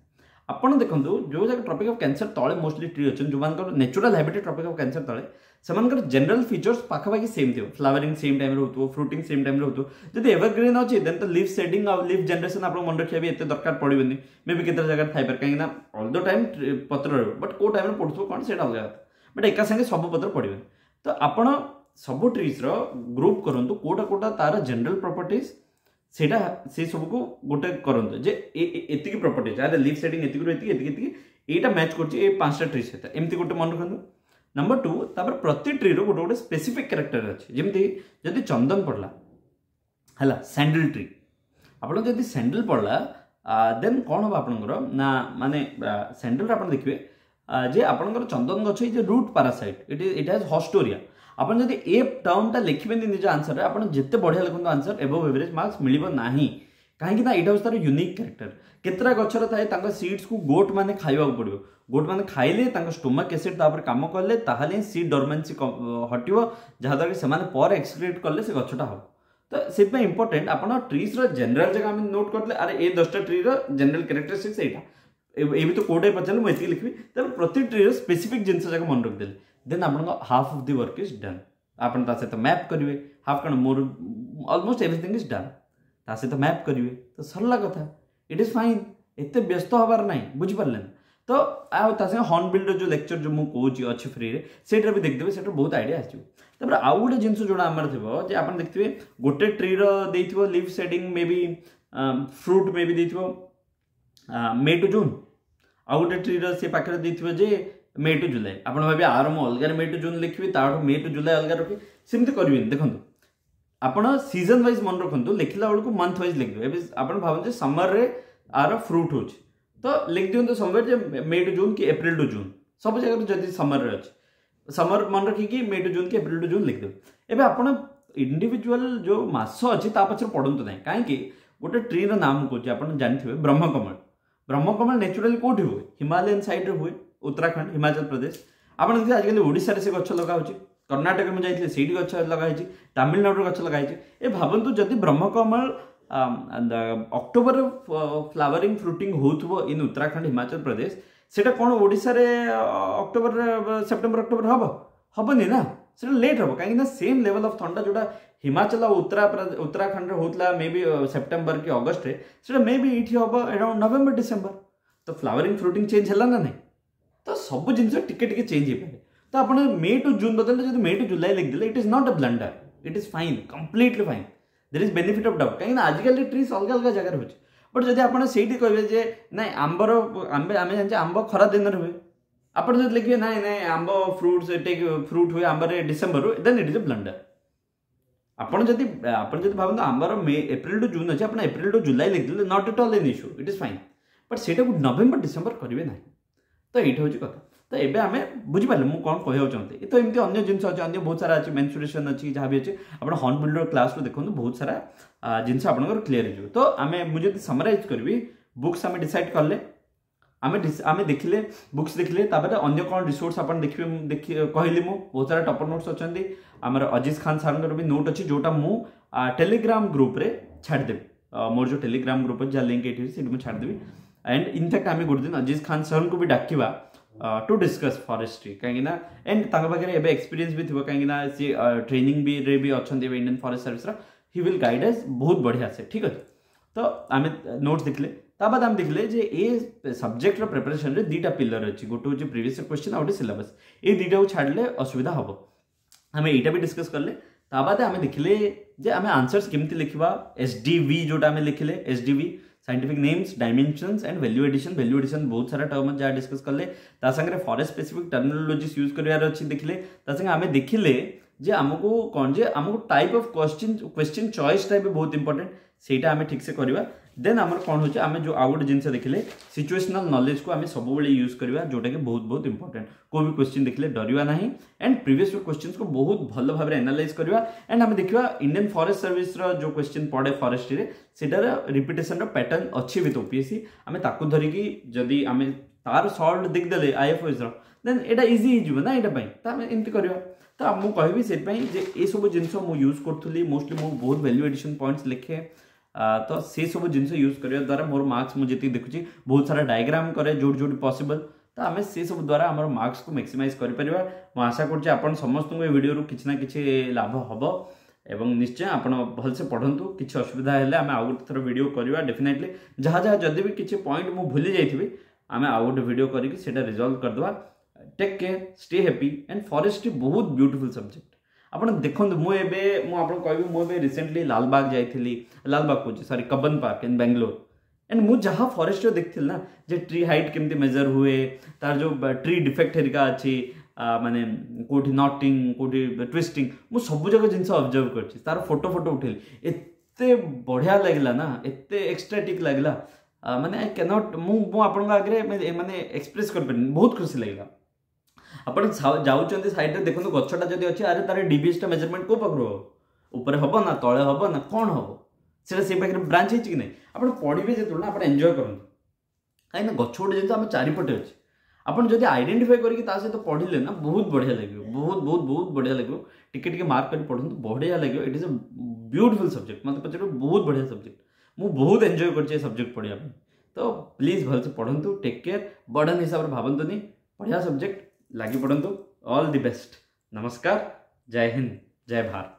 ଆପଣ ଦେଖନ୍ତୁ, ଯେଉଁ ଜାଗା ଟ୍ରପିକ୍ ଅଫ୍ କ୍ୟାନ୍ସର ତଳେ ମୋଷ୍ଟଲି ଟ୍ରି ଅଛନ୍ତି, ଯେଉଁମାନଙ୍କର natural habitat tropic of cancer ତଳେ, ସେମାନଙ୍କର ଜେନେରାଲ ଫିଚର୍ସ ପାଖାପାଖି ସେମ୍ ଥିବ। ଫ୍ଲାୱରିଂ ସେମ୍ ଟାଇମ୍ରେ ହେଉଥିବ, ଫ୍ରୁଟିଂ ସେମ୍ ଟାଇମ୍ରେ ହେଉଥିବ। ଯଦି ଏଭରଗ୍ରିନ୍ ଅଛି, ଦେନ୍ ତ ଲିଭ୍ ସେଡିଂ ଆଉ ଲିଭ୍ ଜେନେରେସନ୍ ଆପଣଙ୍କୁ ମନେ ରଖିବା ବି ଏତେ ଦରକାର ପଡ଼ିବନି। ମେ ବି କେତେ ଜାଗାରେ ଥାଇପାରେ, କାହିଁକିନା ଅଲ୍ the time ପତ୍ର ରହିବ, ବଟ୍ କେଉଁ ଟାଇମ୍ରେ ପଡ଼ୁଥିବ କ'ଣ ସେଇଟା ଅଲଗା କଥା। ବଟ୍ ଏକା ସାଙ୍ଗେ ସବୁ ପତ୍ର ପଡ଼ିବନି। ତ ଆପଣ ସବୁ ଟ୍ରିଜ୍ର ଗ୍ରୁପ୍ କରନ୍ତୁ, କେଉଁଟା କେଉଁଟା ତାର ଜେନେରାଲ ପ୍ରପର୍ଟିଜ୍, ସେଇଟା ସେଇ ସବୁକୁ ଗୋଟେ କରନ୍ତୁ ଯେ ଏତିକି ପ୍ରପର୍ଟିଜ୍, ଆରେ ଲିଫ୍ ସେଡ଼ିଂ ଏତିକିରୁ ଏତିକି ଏତିକି ଏତିକି, ଏଇଟା ମ୍ୟାଚ୍ କରୁଛି ଏ 5ଟା ଟ୍ରି ସହିତ, ଏମିତି ଗୋଟେ ମନେ ରଖନ୍ତୁ। ନମ୍ବର 2, ତାପରେ ପ୍ରତି ଟ୍ରିର ଗୋଟେ ଗୋଟେ ସ୍ପେସିଫିକ୍ କ୍ୟାରେକ୍ଟର ଅଛି। ଯେମିତି ଯଦି ଚନ୍ଦନ ପଡ଼ିଲା ହେଲା ସ୍ୟାଣ୍ଡେଲ ଟ୍ରି, ଆପଣ ଯଦି ସ୍ୟାଣ୍ଡେଲ ପଡ଼ିଲା ଦେନ୍ କ'ଣ ହେବ ଆପଣଙ୍କର ନା ମାନେ ସ୍ୟାଣ୍ଡେଲରେ ଆପଣ ଦେଖିବେ ଯେ ଆପଣଙ୍କର ଚନ୍ଦନ ଗଛ ଏଇ ଯେ root parasite, it it has haustoria. ଆପଣ ଯଦି ଏ ଟର୍ମଟା ଲେଖିବେନି ନିଜ ଆନ୍ସରରେ, ଆପଣ ଯେତେ ବଢ଼ିଆ ଲେଖନ୍ତୁ ଆନ୍ସର ଏବୋଭ୍ ଏଭରେଜ ମାର୍କସ୍ ମିଳିବ ନାହିଁ। କାହିଁକି ନା ଏଇଟା ହେଉଛି ତାର ୟୁନିକ୍ କ୍ୟାରେକ୍ଟର। କେତେଟା ଗଛର ଥାଏ ତାଙ୍କ ସିଡ୍ସକୁ ଗୋଟ୍ ମାନେ ଖାଇବାକୁ ପଡ଼ିବ, ଗୋଟ୍ ମାନେ ଖାଇଲେ ତାଙ୍କ ଷ୍ଟୋମାକ୍ ଏସିଡ୍ ତାପରେ କାମ କଲେ ତାହେଲେ ହିଁ ସିଡ୍ ଡରମେନ୍ସି ହଟିବ, ଯାହାଦ୍ୱାରା କି ସେମାନେ ପରେ ଏକ୍ସକ୍ରିଏଟ୍ କଲେ ସେ ଗଛଟା ହେବ। ତ ସେଥିପାଇଁ ଇମ୍ପୋର୍ଟାଣ୍ଟ ଆପଣ ଟ୍ରିଜ୍ର ଜେନେରାଲ ଜାଗା ଆମେ ନୋଟ୍ କରିଥିଲେ, ଆରେ ଏ 10ଟା ଟ୍ରିର ଜେନେରାଲ କ୍ୟାରେକ୍ଟରିଷ୍ଟିକ୍ସ ଏଇଟା, ଏ ଭିତରୁ କେଉଁଟା ପଚାରିଲେ ମୁଁ ଏତିକି ଲେଖିବି। ତାପରେ ପ୍ରତି ଟ୍ରିର ସ୍ପେସିଫିକ୍ ଜିନିଷ ଯାକ ମନେ ରଖିଦେଲେ ଦେନ୍ ଆପଣଙ୍କ half of the work is done. ଆପଣ ତା ସହିତ ମ୍ୟାପ୍ କରିବେ, ହାଫ୍ କ'ଣ ମୋର ଅଲମୋଷ୍ଟ ଏଭ୍ରିଥିଙ୍ଗ is Don, ତା ସହିତ ମ୍ୟାପ୍ କରିବେ ତ ସରିଲା କଥା। It is fine, ଏତେ ବ୍ୟସ୍ତ ହେବାର ନାହିଁ, ବୁଝିପାରିଲେ ନା? ତ ଆଉ ତା ସାଙ୍ଗେ ହର୍ନବିଲ୍ର ଯେଉଁ ଲେକ୍ଚର ଯେଉଁ ମୁଁ କହୁଛି ଅଛି ଫ୍ରିରେ, ସେଇଟାରେ ବି ଦେଖିଦେବେ, ସେଇଟାରୁ ବହୁତ ଆଇଡ଼ିଆ ଆସିଯିବ। ତାପରେ ଆଉ ଗୋଟେ ଜିନିଷ ଯେଉଁଟା ଆମର ଥିବ ଯେ ଆପଣ ଦେଖିଥିବେ ଗୋଟେ ଟ୍ରିର ଦେଇଥିବ ଲିଫ୍ ସେଡ଼ିଂ ମେ ବି ଫ୍ରୁଟ୍ ମେ ବି ଦେଇଥିବ ମେ ଟୁ ଜୁନ୍, ଆଉ ଗୋଟେ ଟ୍ରିର ସେ ପାଖରେ ଦେଇଥିବ ଯେ ମେ ଟୁ ଜୁଲାଇ। ଆପଣ ଭାବିବେ ଆର ମୁଁ ଅଲଗାରେ ମେ ଟୁ ଜୁନ୍ ଲେଖିବି, ତାଠୁ ମେ ଟୁ ଜୁଲାଇ ଅଲଗା ରଖିବି, ସେମିତି କରିବେନି। ଦେଖନ୍ତୁ ଆପଣ ସିଜନ୍ ୱାଇଜ୍ ମନେ ରଖନ୍ତୁ, ଲେଖିଲା ବେଳକୁ ମନ୍ଥ ୱାଇଜ୍ ଲେଖିଦେବେ। ଏବେ ଆପଣ ଭାବନ୍ତୁ ଯେ ସମରରେ ଆର ଫ୍ରୁଟ୍ ହେଉଛି, ତ ଲେଖିଦିଅନ୍ତୁ ସମୟରେ ଯେ ମେ ଟୁ ଜୁନ୍ କି ଏପ୍ରିଲ ଟୁ ଜୁନ୍, ସବୁ ଜାଗାରେ ଯଦି ସମରରେ ଅଛି ସମର ମନେ ରଖିକି ମେ ଟୁ ଜୁନ୍ କି ଏପ୍ରିଲ ଟୁ ଜୁନ୍ ଲେଖିଦେବେ। ଏବେ ଆପଣ ଇଣ୍ଡିଭିଜୁଆଲ ଯେଉଁ ମାସ ଅଛି ତା ପଛରେ ପଢ଼ନ୍ତୁ ନାହିଁ, କାହିଁକି ଗୋଟେ ଟ୍ରିର ନାମ କହୁଛି ଆପଣ ଜାଣିଥିବେ ବ୍ରହ୍ମକମଳ। ବ୍ରହ୍ମକମଳ ନ୍ୟାଚୁରାଲି କେଉଁଠି ହୁଏ? ହିମାଲୟନ ସାଇଡ଼୍ରେ ହୁଏ, ଉତ୍ତରାଖଣ୍ଡ, ହିମାଚଳ ପ୍ରଦେଶ। ଆପଣ ଦେଖିବେ ଆଜିକାଲି ଓଡ଼ିଶାରେ ସେ ଗଛ ଲଗା ହେଉଛି, କର୍ଣ୍ଣାଟକରେ ମୁଁ ଯାଇଥିଲି ସେଇଠି ଗଛ ଲଗା ହେଇଛି, ତାମିଲନାଡ଼ୁରେ ଗଛ ଲଗା ହେଇଛି। ଏ ଭାବନ୍ତୁ ଯଦି ବ୍ରହ୍ମକମଳ ଅକ୍ଟୋବରରେ ଫ୍ଲାୱରିଂ ଫ୍ରୁଟିଂ ହେଉଥିବ ଇନ୍ ଉତ୍ତରାଖଣ୍ଡ, ହିମାଚଳ ପ୍ରଦେଶ, ସେଇଟା କ'ଣ ଓଡ଼ିଶାରେ ଅକ୍ଟୋବରରେ ସେପ୍ଟେମ୍ବର ଅକ୍ଟୋବର ହେବ? ହେବନି ନା, ସେଇଟା ଲେଟ୍ ହେବ। କାହିଁକିନା ସେମ୍ ଲେଭେଲ୍ ଅଫ୍ ଥଣ୍ଡା ଯେଉଁଟା ହିମାଚଳ ଆଉ ଉତ୍ତରାଖଣ୍ଡରେ ହେଉଥିଲା ମେ ବି ସେପ୍ଟେମ୍ବର କି ଅଗଷ୍ଟରେ, ସେଇଟା ମେ ବି ଏଇଠି ହେବ ଆରାଉଣ୍ଡ ନଭେମ୍ବର ଡିସେମ୍ବର। ତ ଫ୍ଲାୱରିଂ ଫ୍ରୁଟିଂ ଚେଞ୍ଜ ହେଲା ନା ନାହିଁ? ତ ସବୁ ଜିନିଷ ଟିକେ ଟିକେ ଚେଞ୍ଜ ହେଇପାରେ। ତ ଆପଣ ମେ ଟୁ ଜୁନ୍ ବଦଳରେ ଯଦି ମେ ଟୁ ଜୁଲାଇ ଲେଖିଦେଲେ it is not a blunder, it is fine, completely fine, there is benefit of doubt. କାହିଁକିନା ଆଜିକାଲି ଟ୍ରିଜ୍ ଅଲଗା ଅଲଗା ଜାଗାରେ ହେଉଛି। ବଟ୍ ଯଦି ଆପଣ ସେଇଠି କହିବେ ଯେ ନାଇଁ ଆମ୍ବର ଆମେ ଜାଣିଛେ ଆମ୍ବ ଖରା ଦିନରେ ହୁଏ, ଆପଣ ଯଦି ଲେଖିବେ ନାଇଁ ନାଇଁ ଆମ୍ବ ଫ୍ରୁଟ୍ସ ଟେକ୍ ଫ୍ରୁଟ୍ ହୁଏ ଆମ୍ବରେ ଡିସେମ୍ବରରୁ, then it is a blunder. ଆପଣ ଯଦି ଭାବନ୍ତୁ ଆମ୍ବର ମେ ଏପ୍ରିଲ ଟୁ ଜୁନ୍ ଅଛି, ଆପଣ ଏପ୍ରିଲ ଟୁ ଜୁଲାଇ ଲେଖିଦେଲେ not at all an issue, it is fine. But ସେଇଟାକୁ ନଭେମ୍ବର ଡିସେମ୍ବର କରିବେ ନାହିଁ। ତ ଏଇଟା ହେଉଛି କଥା। ତ ଏବେ ଆମେ ବୁଝିପାରିଲେ ମୁଁ କ'ଣ କହିବାକୁ ଚାହୁଁଥିଲି। ତ ଏମିତି ଅନ୍ୟ ଜିନିଷ ଅଛି, ଅନ୍ୟ ବହୁତ ସାରା ଅଛି, ମେନ୍ସୁରେସନ୍ ଅଛି, ଯାହା ବି ଅଛି ଆପଣ ହର୍ନବିଲ୍ର କ୍ଲାସ୍ରୁ ଦେଖନ୍ତୁ, ବହୁତ ସାରା ଜିନିଷ ଆପଣଙ୍କର କ୍ଲିୟର ହେଇଯିବ। ତ ଆମେ ମୁଁ ଯଦି ସମରାଇଜ୍ କରିବି, ବୁକ୍ସ ଆମେ ଡିସାଇଡ଼୍ କଲେ, ଆମେ ଦେଖିଲେ ବୁକ୍ସ ଦେଖିଲେ, ତାପରେ ଅନ୍ୟ କ'ଣ ରିସୋର୍ସ ଆପଣ ଦେଖିବେ ଦେଖି କହିଲି ମୁଁ, ବହୁତ ସାରା ଟପର ନୋଟ୍ସ ଅଛନ୍ତି। ଆମର ଅଜିଜ ଖାନ ସାର୍ଙ୍କର ବି ନୋଟ୍ ଅଛି, ଯେଉଁଟା ମୁଁ ଟେଲିଗ୍ରାମ ଗ୍ରୁପ୍ରେ ଛାଡ଼ିଦେବି। ମୋର ଯେଉଁ ଟେଲିଗ୍ରାମ ଗ୍ରୁପ୍ ଅଛି, ଯାହା ଲିଙ୍କ୍ ଏଇଠି ଅଛି, ସେଇଠି ମୁଁ ଛାଡ଼ିଦେବି। ଆଣ୍ଡ ଇନଫ୍ୟାକ୍ଟ ଆମେ ଗୋଟେ ଦିନ ଅଜିଜ ଖାନ ସାର୍ଙ୍କୁ ବି ଡାକିବା ଟୁ ଡିସ୍କସ୍ ଫରେଷ୍ଟ୍ରି, କାହିଁକିନା ଆଣ୍ଡ ତାଙ୍କ ପାଖରେ ଏବେ ଏକ୍ସପିରିଏନ୍ସ ବି ଥିବ, କାହିଁକିନା ସିଏ ଟ୍ରେନିଂ ବି ରେ ବି ଅଛନ୍ତି ଏବେ ଇଣ୍ଡିଆନ୍ ଫରେଷ୍ଟ ସର୍ଭିସର, he will guide ଅସ୍ ବହୁତ ବଢ଼ିଆ ସେ, ଠିକ୍ ଅଛି। ତ ଆମେ ନୋଟ୍ସ ଦେଖିଲେ, ତା ବାଦ ଆମେ ଦେଖିଲେ ଯେ ଏ ସବଜେକ୍ଟର ପ୍ରିପାରେସନରେ 2ଟା ପିଲର ଅଛି, ଗୋଟେ ହେଉଛି ପ୍ରିଭିୟସ୍ କ୍ୱେଶ୍ଚିନ୍ ଆଉ ଗୋଟେ ସିଲାବସ୍। ଏଇ 2ଟାକୁ ଛାଡ଼ିଲେ ଅସୁବିଧା ହେବ, ଆମେ ଏଇଟା ବି ଡିସ୍କସ୍ କଲେ। ତା ବାଦେ ଆମେ ଦେଖିଲେ ଯେ ଆମେ ଆନ୍ସର୍ସ କେମିତି ଲେଖିବା, ଏସ୍ ଡି ଭି ଯେଉଁଟା ଆମେ ଲେଖିଲେ, S D V scientific names, dimensions and value addition. Value addition ବହୁତ ସାରା ଟର୍ମ ଯାହା ଡିସ୍କସ୍ କଲେ, ତା ସାଙ୍ଗରେ ଫରେଷ୍ଟ ସ୍ପେସିଫିକ୍ ଟର୍ମିନୋଲୋଜିସ୍ ୟୁଜ୍ କରିବାର ଅଛି ଦେଖିଲେ। ତା ସାଙ୍ଗେ ଆମେ ଦେଖିଲେ ଯେ ଆମକୁ କ'ଣ ଯେ ଆମକୁ ଟାଇପ୍ ଅଫ୍ କ୍ୱେଶ୍ଚିନ୍ ଚଏସ୍ଟା ବି ବହୁତ ଇମ୍ପୋର୍ଟାଣ୍ଟ, ସେଇଟା ଆମେ ଠିକ୍ସେ କରିବା। ଦେନ୍ ଆମର କ'ଣ ହେଉଛି, ଆମେ ଯେଉଁ ଆଉ ଗୋଟେ ଜିନିଷ ଦେଖିଲେ ସିଚୁଏସନାଲ୍ ନଲେଜକୁ ଆମେ ସବୁବେଳେ ୟୁଜ୍ କରିବା, ଯେଉଁଟାକି ବହୁତ ବହୁତ ଇମ୍ପୋର୍ଟାଣ୍ଟ। କେଉଁ ବି କ୍ୱେଶ୍ଚିନ୍ ଦେଖିଲେ ଡରିବା ନାହିଁ, ଆଣ୍ଡ ପ୍ରିଭିୟସ୍ କ୍ୱେଶ୍ଚିନ୍ସକୁ ବହୁତ ଭଲ ଭାବରେ ଆନାଲାଇଜ୍ କରିବା। ଆଣ୍ଡ ଆମେ ଦେଖିବା ଇଣ୍ଡିଆନ୍ ଫରେଷ୍ଟ ସର୍ଭିସର ଯେଉଁ କ୍ୱେଶ୍ଚିନ୍ ପଡ଼େ ଫରେଷ୍ଟ୍ରିରେ, ସେଇଟାର ରିପିଟେସନ୍ର ପ୍ୟାଟର୍ନ ଅଛି ୱିଥ୍ ଓପିଏସ୍ସି। ଆମେ ତାକୁ ଧରିକି ଯଦି ଆମେ ତାର ସଲ୍ଭ ଦେଖିଦେଲେ ଆଇଏଫ୍ଓଏସ୍ର, ଦେନ୍ ଏଇଟା ଇଜି ହେଇଯିବ ନା ଏଇଟା ପାଇଁ। ତ ଆମେ ଏମିତି କରିବା। ତ ମୁଁ କହିବି ସେଥିପାଇଁ ଯେ ଏସବୁ ଜିନିଷ ମୁଁ ୟୁଜ୍ କରୁଥିଲି, ମୋଷ୍ଟଲି ମୁଁ ବହୁତ ଭ୍ୟାଲ୍ୟୁ ଏଡିସନ୍ ପଏଣ୍ଟସ୍ ଲେଖେ। ତ ସେସବୁ ଜିନିଷ ୟୁଜ୍ କରିବା ଦ୍ୱାରା ମୋର ମାର୍କସ୍ ମୁଁ ଯେତିକି ଦେଖୁଛି, ବହୁତ ସାରା ଡାଇଗ୍ରାମ କରେ ଯେଉଁଠି ଯେଉଁଠି ପସିବଲ୍, ତ ଆମେ ସେସବୁ ଦ୍ୱାରା ଆମର ମାର୍କସକୁ ମ୍ୟାକ୍ସିମାଇଜ୍ କରିପାରିବା। ମୁଁ ଆଶା କରୁଛି ଆପଣ ସମସ୍ତଙ୍କୁ ଏ ଭିଡ଼ିଓରୁ କିଛି ନା କିଛି ଲାଭ ହେବ, ଏବଂ ନିଶ୍ଚୟ ଆପଣ ଭଲସେ ପଢ଼ନ୍ତୁ। କିଛି ଅସୁବିଧା ହେଲେ ଆମେ ଆଉ ଗୋଟେ ଥର ଭିଡ଼ିଓ କରିବା ଡେଫିନେଟଲି। ଯାହା ଯାହା ଯଦି ବି କିଛି ପଏଣ୍ଟ ମୁଁ ଭୁଲି ଯାଇଥିବି, ଆମେ ଆଉ ଗୋଟେ ଭିଡ଼ିଓ କରିକି ସେଇଟା ରିଜଲ୍ଭ କରିଦେବା। Take care, stay happy. And forestry ବହୁତ ବ୍ୟୁଟିଫୁଲ୍ ସବଜେକ୍ଟ। ଆପଣ ଦେଖନ୍ତୁ, ମୁଁ ଏବେ ମୁଁ ଆପଣଙ୍କୁ କହିବି, ମୁଁ ଏବେ ରିସେଣ୍ଟଲି ଲାଲବାଗ ଯାଇଥିଲି, ଲାଲବାଗ କହୁଛି, ସରି, କବନ ପାର୍କ ଇନ୍ ବାଙ୍ଗାଲୋର। ଆଣ୍ଡ ମୁଁ ଯାହା ଫରେଷ୍ଟର ଦେଖିଥିଲି ନା, ଯେ ଟ୍ରି ହାଇଟ୍ କେମିତି ମେଜର ହୁଏ, ତାର ଯେଉଁ ଟ୍ରି ଡିଫେକ୍ଟ ହେରିକା ଅଛି, ମାନେ କେଉଁଠି ନଟିଂ, କେଉଁଠି ଟ୍ୱିଷ୍ଟିଂ, ମୁଁ ସବୁ ଯାକ ଜିନିଷ ଅବଜର୍ଭ କରିଛି, ତାର ଫଟୋ ଫଟୋ ଉଠେଇଲି। ଏତେ ବଢ଼ିଆ ଲାଗିଲା ନା, ଏତେ ଏକ୍ସଟ୍ରାଟିକ୍ ଲାଗିଲା, ମାନେ I can't, ମୁଁ ଆପଣଙ୍କ ଆଗରେ ମାନେ ଏକ୍ସପ୍ରେସ୍ କରିପାରିନି। ବହୁତ ଖୁସି ଲାଗିଲା। ଆପଣ ଯାଉଛନ୍ତି, ସାଇଡ଼୍ରେ ଦେଖନ୍ତୁ ଗଛଟା ଯଦି ଅଛି, ଆରେ ତାର ଡିଭିଏସ୍ଟା ମେଜରମେଣ୍ଟ କେଉଁ ପାଖରୁ ହେବ? ଉପରେ ହେବ ନା ତଳେ ହେବ ନା କ'ଣ ହେବ? ସେଇଟା ସେଇ ପାଖରେ ବ୍ରାଞ୍ଚ ହେଇଛି କି ନାହିଁ? ଆପଣ ପଢ଼ିବେ ଯେତେବେଳେ ନା, ଆପଣ ଏନ୍ଜୟ କରନ୍ତୁ, କାହିଁକିନା ଗଛ ଗୋଟେ ଜିନିଷ ଆମ ଚାରିପଟେ ଅଛି। ଆପଣ ଯଦି ଆଇଡେଣ୍ଟିଫାଏ କରିକି ତା ସହିତ ପଢ଼ିଲେ ନା, ବହୁତ ବଢ଼ିଆ ଲାଗିବ, ବହୁତ ବହୁତ ବହୁତ ବଢ଼ିଆ ଲାଗିବ। ଟିକେ ଟିକେ ମାର୍କ କରି ପଢ଼ନ୍ତୁ, ବଢ଼ିଆ ଲାଗିବ। It is a beautiful subject. ମୋତେ ପଚାରିବ, ବହୁତ ବଢ଼ିଆ ସବଜେକ୍ଟ। ମୁଁ ବହୁତ ଏନ୍ଜୟ କରିଛି ଏ ସବଜେକ୍ଟ ପଢ଼ିବା ପାଇଁ। ତ ପ୍ଲିଜ୍ ଭଲସେ ପଢ଼ନ୍ତୁ। Take care. ବର୍ଡ଼ନ୍ ହିସାବରେ ଭାବନ୍ତୁନି, ବଢ଼ିଆ ସବଜେକ୍ଟ, ଲାଗି ପଡ଼ନ୍ତୁ। All the best. ନମସ୍କାର, ଜୟ ହିନ୍ଦ, ଜୟ ଭାରତ।